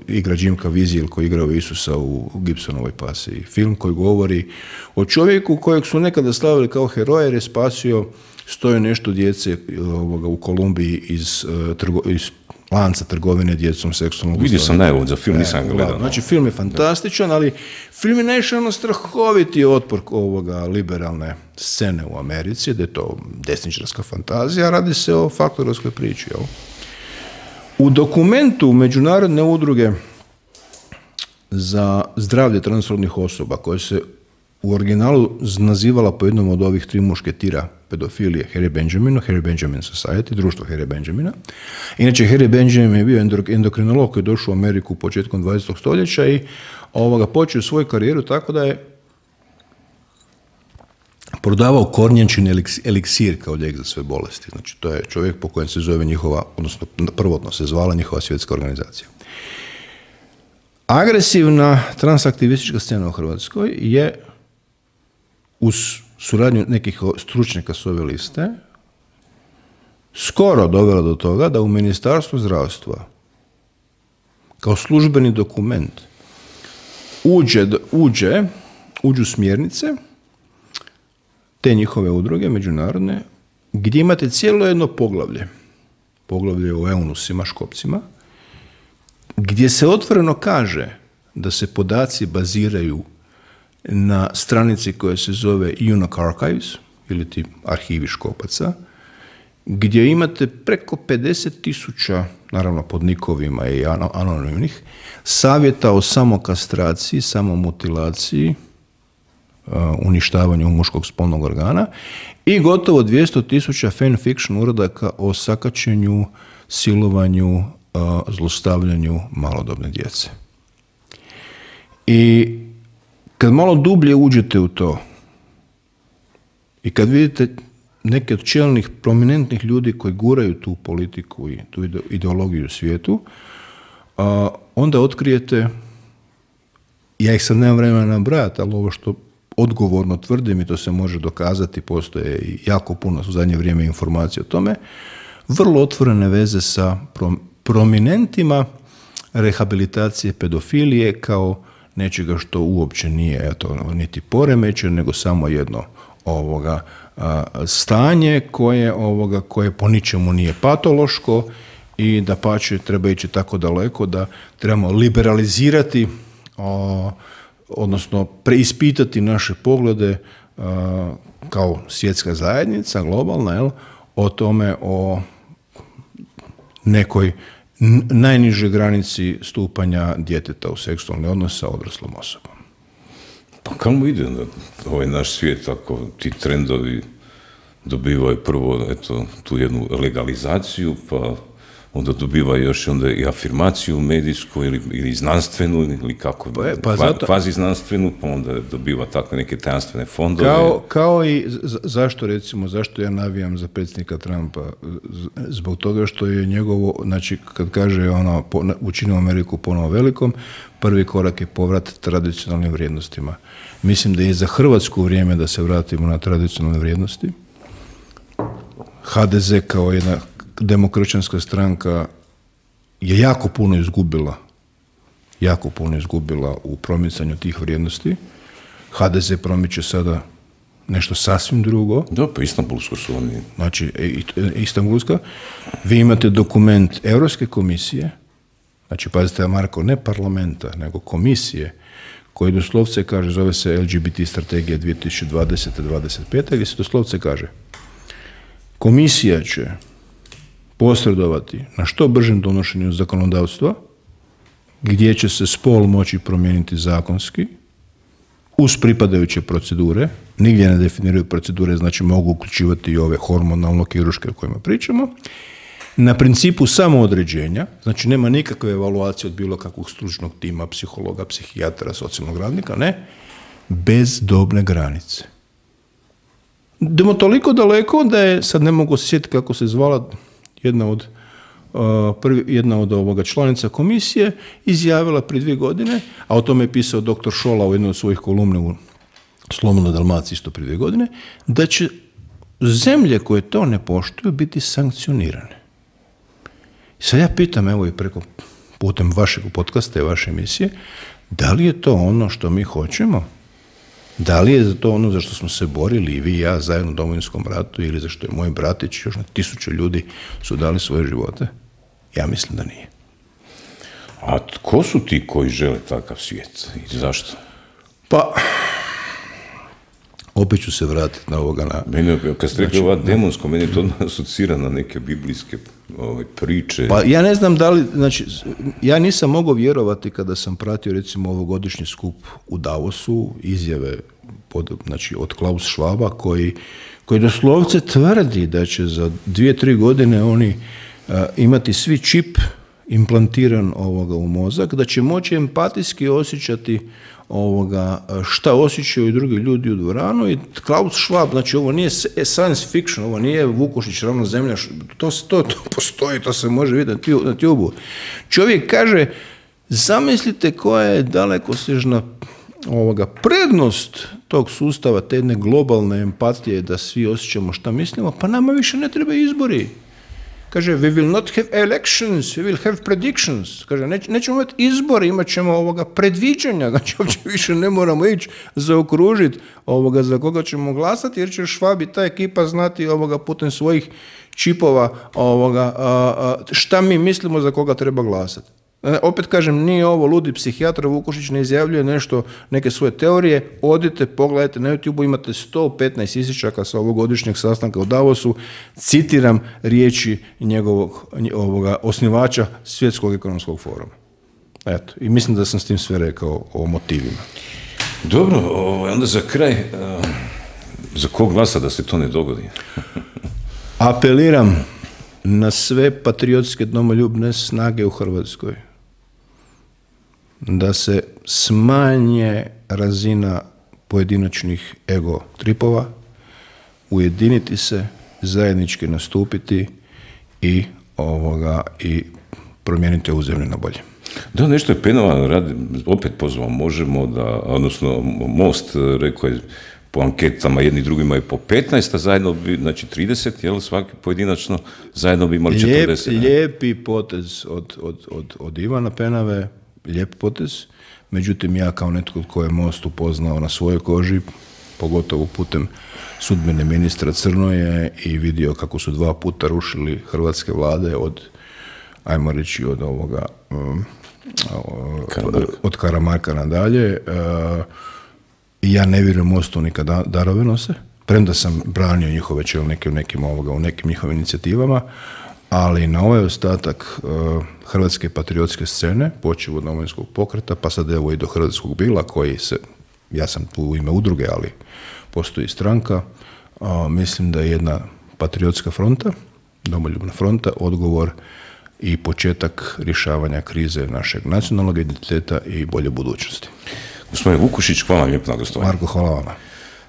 B: igra Jim Caviezel koji je igrao Isusa u Gibsonovoj pasiji. Film koji govori o čovjeku kojeg su nekada slavili kao heroja jer je spasio stoje nešto djece ovoga, u Kolumbiji iz, trgo, iz lanca trgovine djecom seksualnog.
A: Vidio sam najavod za film, nisam ga gledao.
B: Znači film je fantastičan, ali film je naišao na strahoviti otpor ovoga liberalne scene u Americi, da je to desničarska fantazija, radi se o faktorovskoj priči. Jel? U dokumentu Međunarodne udruge za zdravlje transrodnih osoba, koje se u originalu nazivala po jednom od ovih tri mušketira pedofilije Harry Benjaminu, Harry Benjamin Society, društvo Harry Benjamina. Inače, Harry Benjamin je bio endokrinolog koji je došao u Ameriku početkom dvadesetog stoljeća i ovoga, počeo svoju karijeru tako da je prodavao kornjačin eliksir kao lijek za sve bolesti. Znači, to je čovjek po kojem se zove njihova, odnosno prvotno se zvala njihova svjetska organizacija. Agresivna transaktivistička scena u Hrvatskoj je uz suradnju nekih stručnjaka s ove liste skoro dovela do toga da u Ministarstvu zdravstva kao službeni dokument uđe, uđe, uđu smjernice te njihove udruge međunarodne gdje imate cijelo jedno poglavlje, poglavlje o eunusima, škopcima, gdje se otvoreno kaže da se podaci baziraju na stranici koja se zove Eunuch Archives, ili ti arhivi škopaca, gdje imate preko pedeset tisuća, naravno pod nikovima i anonimnih, savjeta o samokastraciji, samomutilaciji, uh, uništavanju muškog spolnog organa i gotovo dvjesto tisuća fanfiction uradaka o sakaćenju, silovanju, uh, zlostavljanju malodobne djece. I kad malo dublje uđete u to i kad vidite neke od čelnih, prominentnih ljudi koji guraju tu politiku i tu ideologiju u svijetu, a, onda otkrijete, ja ih sad nemam vremena nabrajati, ali ovo što odgovorno tvrdim i to se može dokazati, postoje i jako puno u zadnje vrijeme informacije o tome, vrlo otvorene veze sa prom, prominentima rehabilitacije pedofilije kao nečega što uopće nije eto, niti poremećaj, nego samo jedno ovoga a, stanje koje, ovoga, koje po ničemu nije patološko i da pače treba ići tako daleko da trebamo liberalizirati, o, odnosno preispitati naše poglede kao svjetska zajednica, globalna, jel, o tome, o nekoj najnižoj granici stupanja djeteta u seksualni odnos sa odraslom osobom.
A: Pa kamo ide ovaj naš svijet ako ti trendovi dobivaju prvo eto, tu jednu legalizaciju, pa onda dobiva još onda i afirmaciju medijsku ili, ili znanstvenu, ili kako, pa je, pa zato, kvazi znanstvenu, pa onda dobiva tako neke tajanstvene fondove.
B: Kao, kao i zašto recimo, zašto ja navijam za predsjednika Trumpa? Zbog toga što je njegovo, znači kad kaže ono, učinimo Ameriku ponovo velikom, prvi korak je povrat tradicionalnim vrijednostima. Mislim da je za Hrvatsku vrijeme da se vratimo na tradicionalne vrijednosti. ha de ze kao jedna demokršćanska stranka je jako puno izgubila, jako puno izgubila u promicanju tih vrijednosti. ha de ze promiče sada nešto sasvim drugo.
A: Da, pa Istanbulsko su oni.
B: Znači, Istanbulska. Vi imate dokument Europske komisije, znači, pazite, Marko, ne parlamenta, nego komisije, koji doslovce kaže, zove se el ge be te strategija dvije tisuće dvadesete do dvadeset pete, gdje se doslovce kaže, komisija će posredovati na što bržem donošenju zakonodavstva, gdje će se spol moći promijeniti zakonski, uz pripadajuće procedure, nigdje ne definiraju procedure, znači mogu uključivati i ove hormonalno-kirurške o kojima pričamo, na principu samoodređenja, znači nema nikakve evaluacije od bilo kakvog stručnog tima, psihologa, psihijatra, socijalnog radnika, ne, bez dobne granice. Idemo toliko daleko da je, sad ne mogu se sjetiti kako se zvala jedna od, uh, prvi, jedna od ovoga članica komisije, izjavila prije dvije godine, a o tome je pisao doktor Šola u jednoj od svojih kolumne u Slobodnoj Dalmaciji isto prije dvije godine, da će zemlje koje to ne poštuju biti sankcionirane. Sad ja pitam, evo i preko putem vašeg podcasta i vaše emisije, da li je to ono što mi hoćemo? Da li je to ono za što smo se borili i vi i ja zajedno u Domovinskom ratu ili za što je moj bratić i još na tisuće ljudi su dali svoje živote? Ja mislim da nije.
A: A tko su ti koji žele takav svijet i zašto?
B: Pa, opet ću se vratiti na ovoga. Na,
A: meni, kad ste rekli ova demonsko, meni to asocira na neke biblijske ove, priče.
B: Pa ja ne znam da li, znači, ja nisam mogao vjerovati kada sam pratio recimo ovogodišnji skup u Davosu, izjave pod, znači, od Klaus Schwaba, koji, koji doslovce tvrdi da će za dvije, tri godine oni uh, imati svi čip implantiran ovoga u mozak, da će moći empatijski osjećati ovoga, šta osjećaju i drugi ljudi u dvoranu i Klaus Schwab, znači ovo nije science fiction, ovo nije Vukušić ravna zemlja, to, to, to postoji, to se može vidjeti na tubu. Čovjek kaže, zamislite koja je dalekosežna ovoga prednost tog sustava, te jedne globalne empatije da svi osjećamo šta mislimo, pa nama više ne treba izbori. Kaže, we will not have elections, we will have predictions. Kaže, neć, nećemo imati izbore, imat ćemo ovoga predviđanja, znači uopće više ne moramo ići zaokružiti ovoga za koga ćemo glasati, jer će Schwab i ta ekipa znati ovoga putem svojih čipova ovoga, a, a, šta mi mislimo za koga treba glasati. E, opet kažem, nije ovo ludi psihijatar, Vukušić ne izjavljuje nešto, neke svoje teorije, odite, pogledajte na YouTube, imate sto petnaest isječaka sa ovogodišnjeg sastanka u Davosu, citiram riječi njegovog ovoga, osnivača Svjetskog ekonomskog foruma. Eto, i mislim da sam s tim sve rekao o motivima.
A: Dobro, onda za kraj, za kog glasa da se to ne dogodi?
B: Apeliram na sve patriotske domoljubne snage u Hrvatskoj da se smanje razina pojedinačnih ego tripova, ujediniti se, zajednički nastupiti i ovoga i promijeniti ovu zemlju na bolje.
A: Da, nešto je Penova radi, opet pozvao, možemo da, odnosno Most rekao je po anketama jedni drugima je po petnaest, a zajedno bi, znači trideset, jel, svaki pojedinačno, zajedno bi imali četrdeset.
B: Lijep, lijepi potez od, od, od, od Ivana Penave, lijep potez, međutim ja kao netko tko je Most upoznao na svojoj koži, pogotovo putem sudbene ministra Crnoje i vidio kako su dva puta rušili hrvatske vlade od, ajmo reći, od ovoga, um, od, od Karamarka nadalje, uh, I ja ne vjerujem Mostu ni kad darove nose, premda sam branio njihove čelnike u nekim, ovoga, u nekim njihovim inicijativama, ali na ovaj ostatak uh, hrvatske patriotske scene, počev od Domovinskog pokreta, pa sad evo i do Hrvatskog bila, koji se, ja sam tu u ime udruge, ali postoji stranka, uh, mislim da je jedna patriotska fronta, domoljubna fronta, odgovor i početak rješavanja krize našeg nacionalnog identiteta i bolje budućnosti.
A: Gospodin Vukušić, hvala vam lijepo na gostovanju.
B: Marko, hvala vama.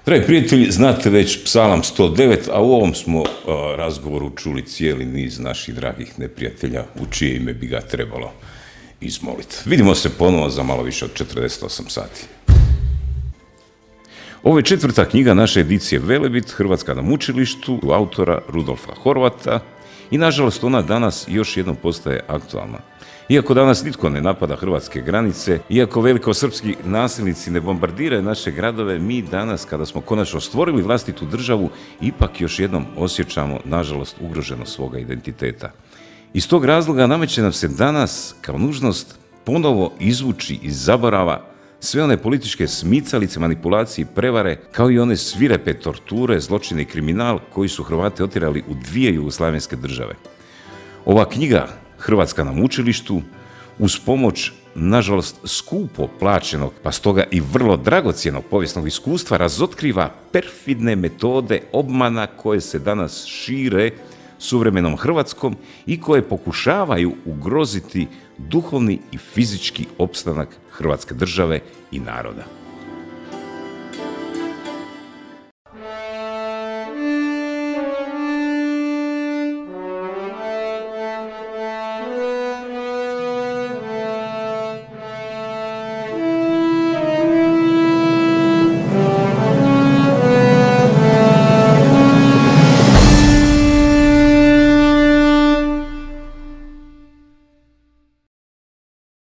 A: Dragi prijatelji, znate već Psalam sto devet, a u ovom smo uh, razgovoru čuli cijeli niz naših dragih neprijatelja u čije ime bi ga trebalo izmoliti. Vidimo se ponovo za malo više od četrdeset osam sati. Ovo je četvrta knjiga naše edicije Velebit, Hrvatska na mučilištu, autora Rudolfa Horvata, i nažalost ona danas još jednom postaje aktualna. Iako danas nitko ne napada hrvatske granice, iako velikosrpski nasilnici ne bombardiraju naše gradove, mi danas, kada smo konačno stvorili vlastitu državu, ipak još jednom osjećamo, nažalost, ugroženost svoga identiteta. Iz tog razloga nameće nam se danas, kao nužnost, ponovo izvući iz zaborava sve one političke smicalice, manipulacije i prevare, kao i one svirepe torture, zločine i kriminal koji su Hrvate otjerali u dvije jugoslavenske države. Ova knjiga, Hrvatska na mučilištu, uz pomoć, nažalost, skupo plaćenog, pa stoga i vrlo dragocjenog povijesnog iskustva, razotkriva perfidne metode obmana koje se danas šire suvremenom Hrvatskom i koje pokušavaju ugroziti duhovni i fizički opstanak Hrvatske države i naroda.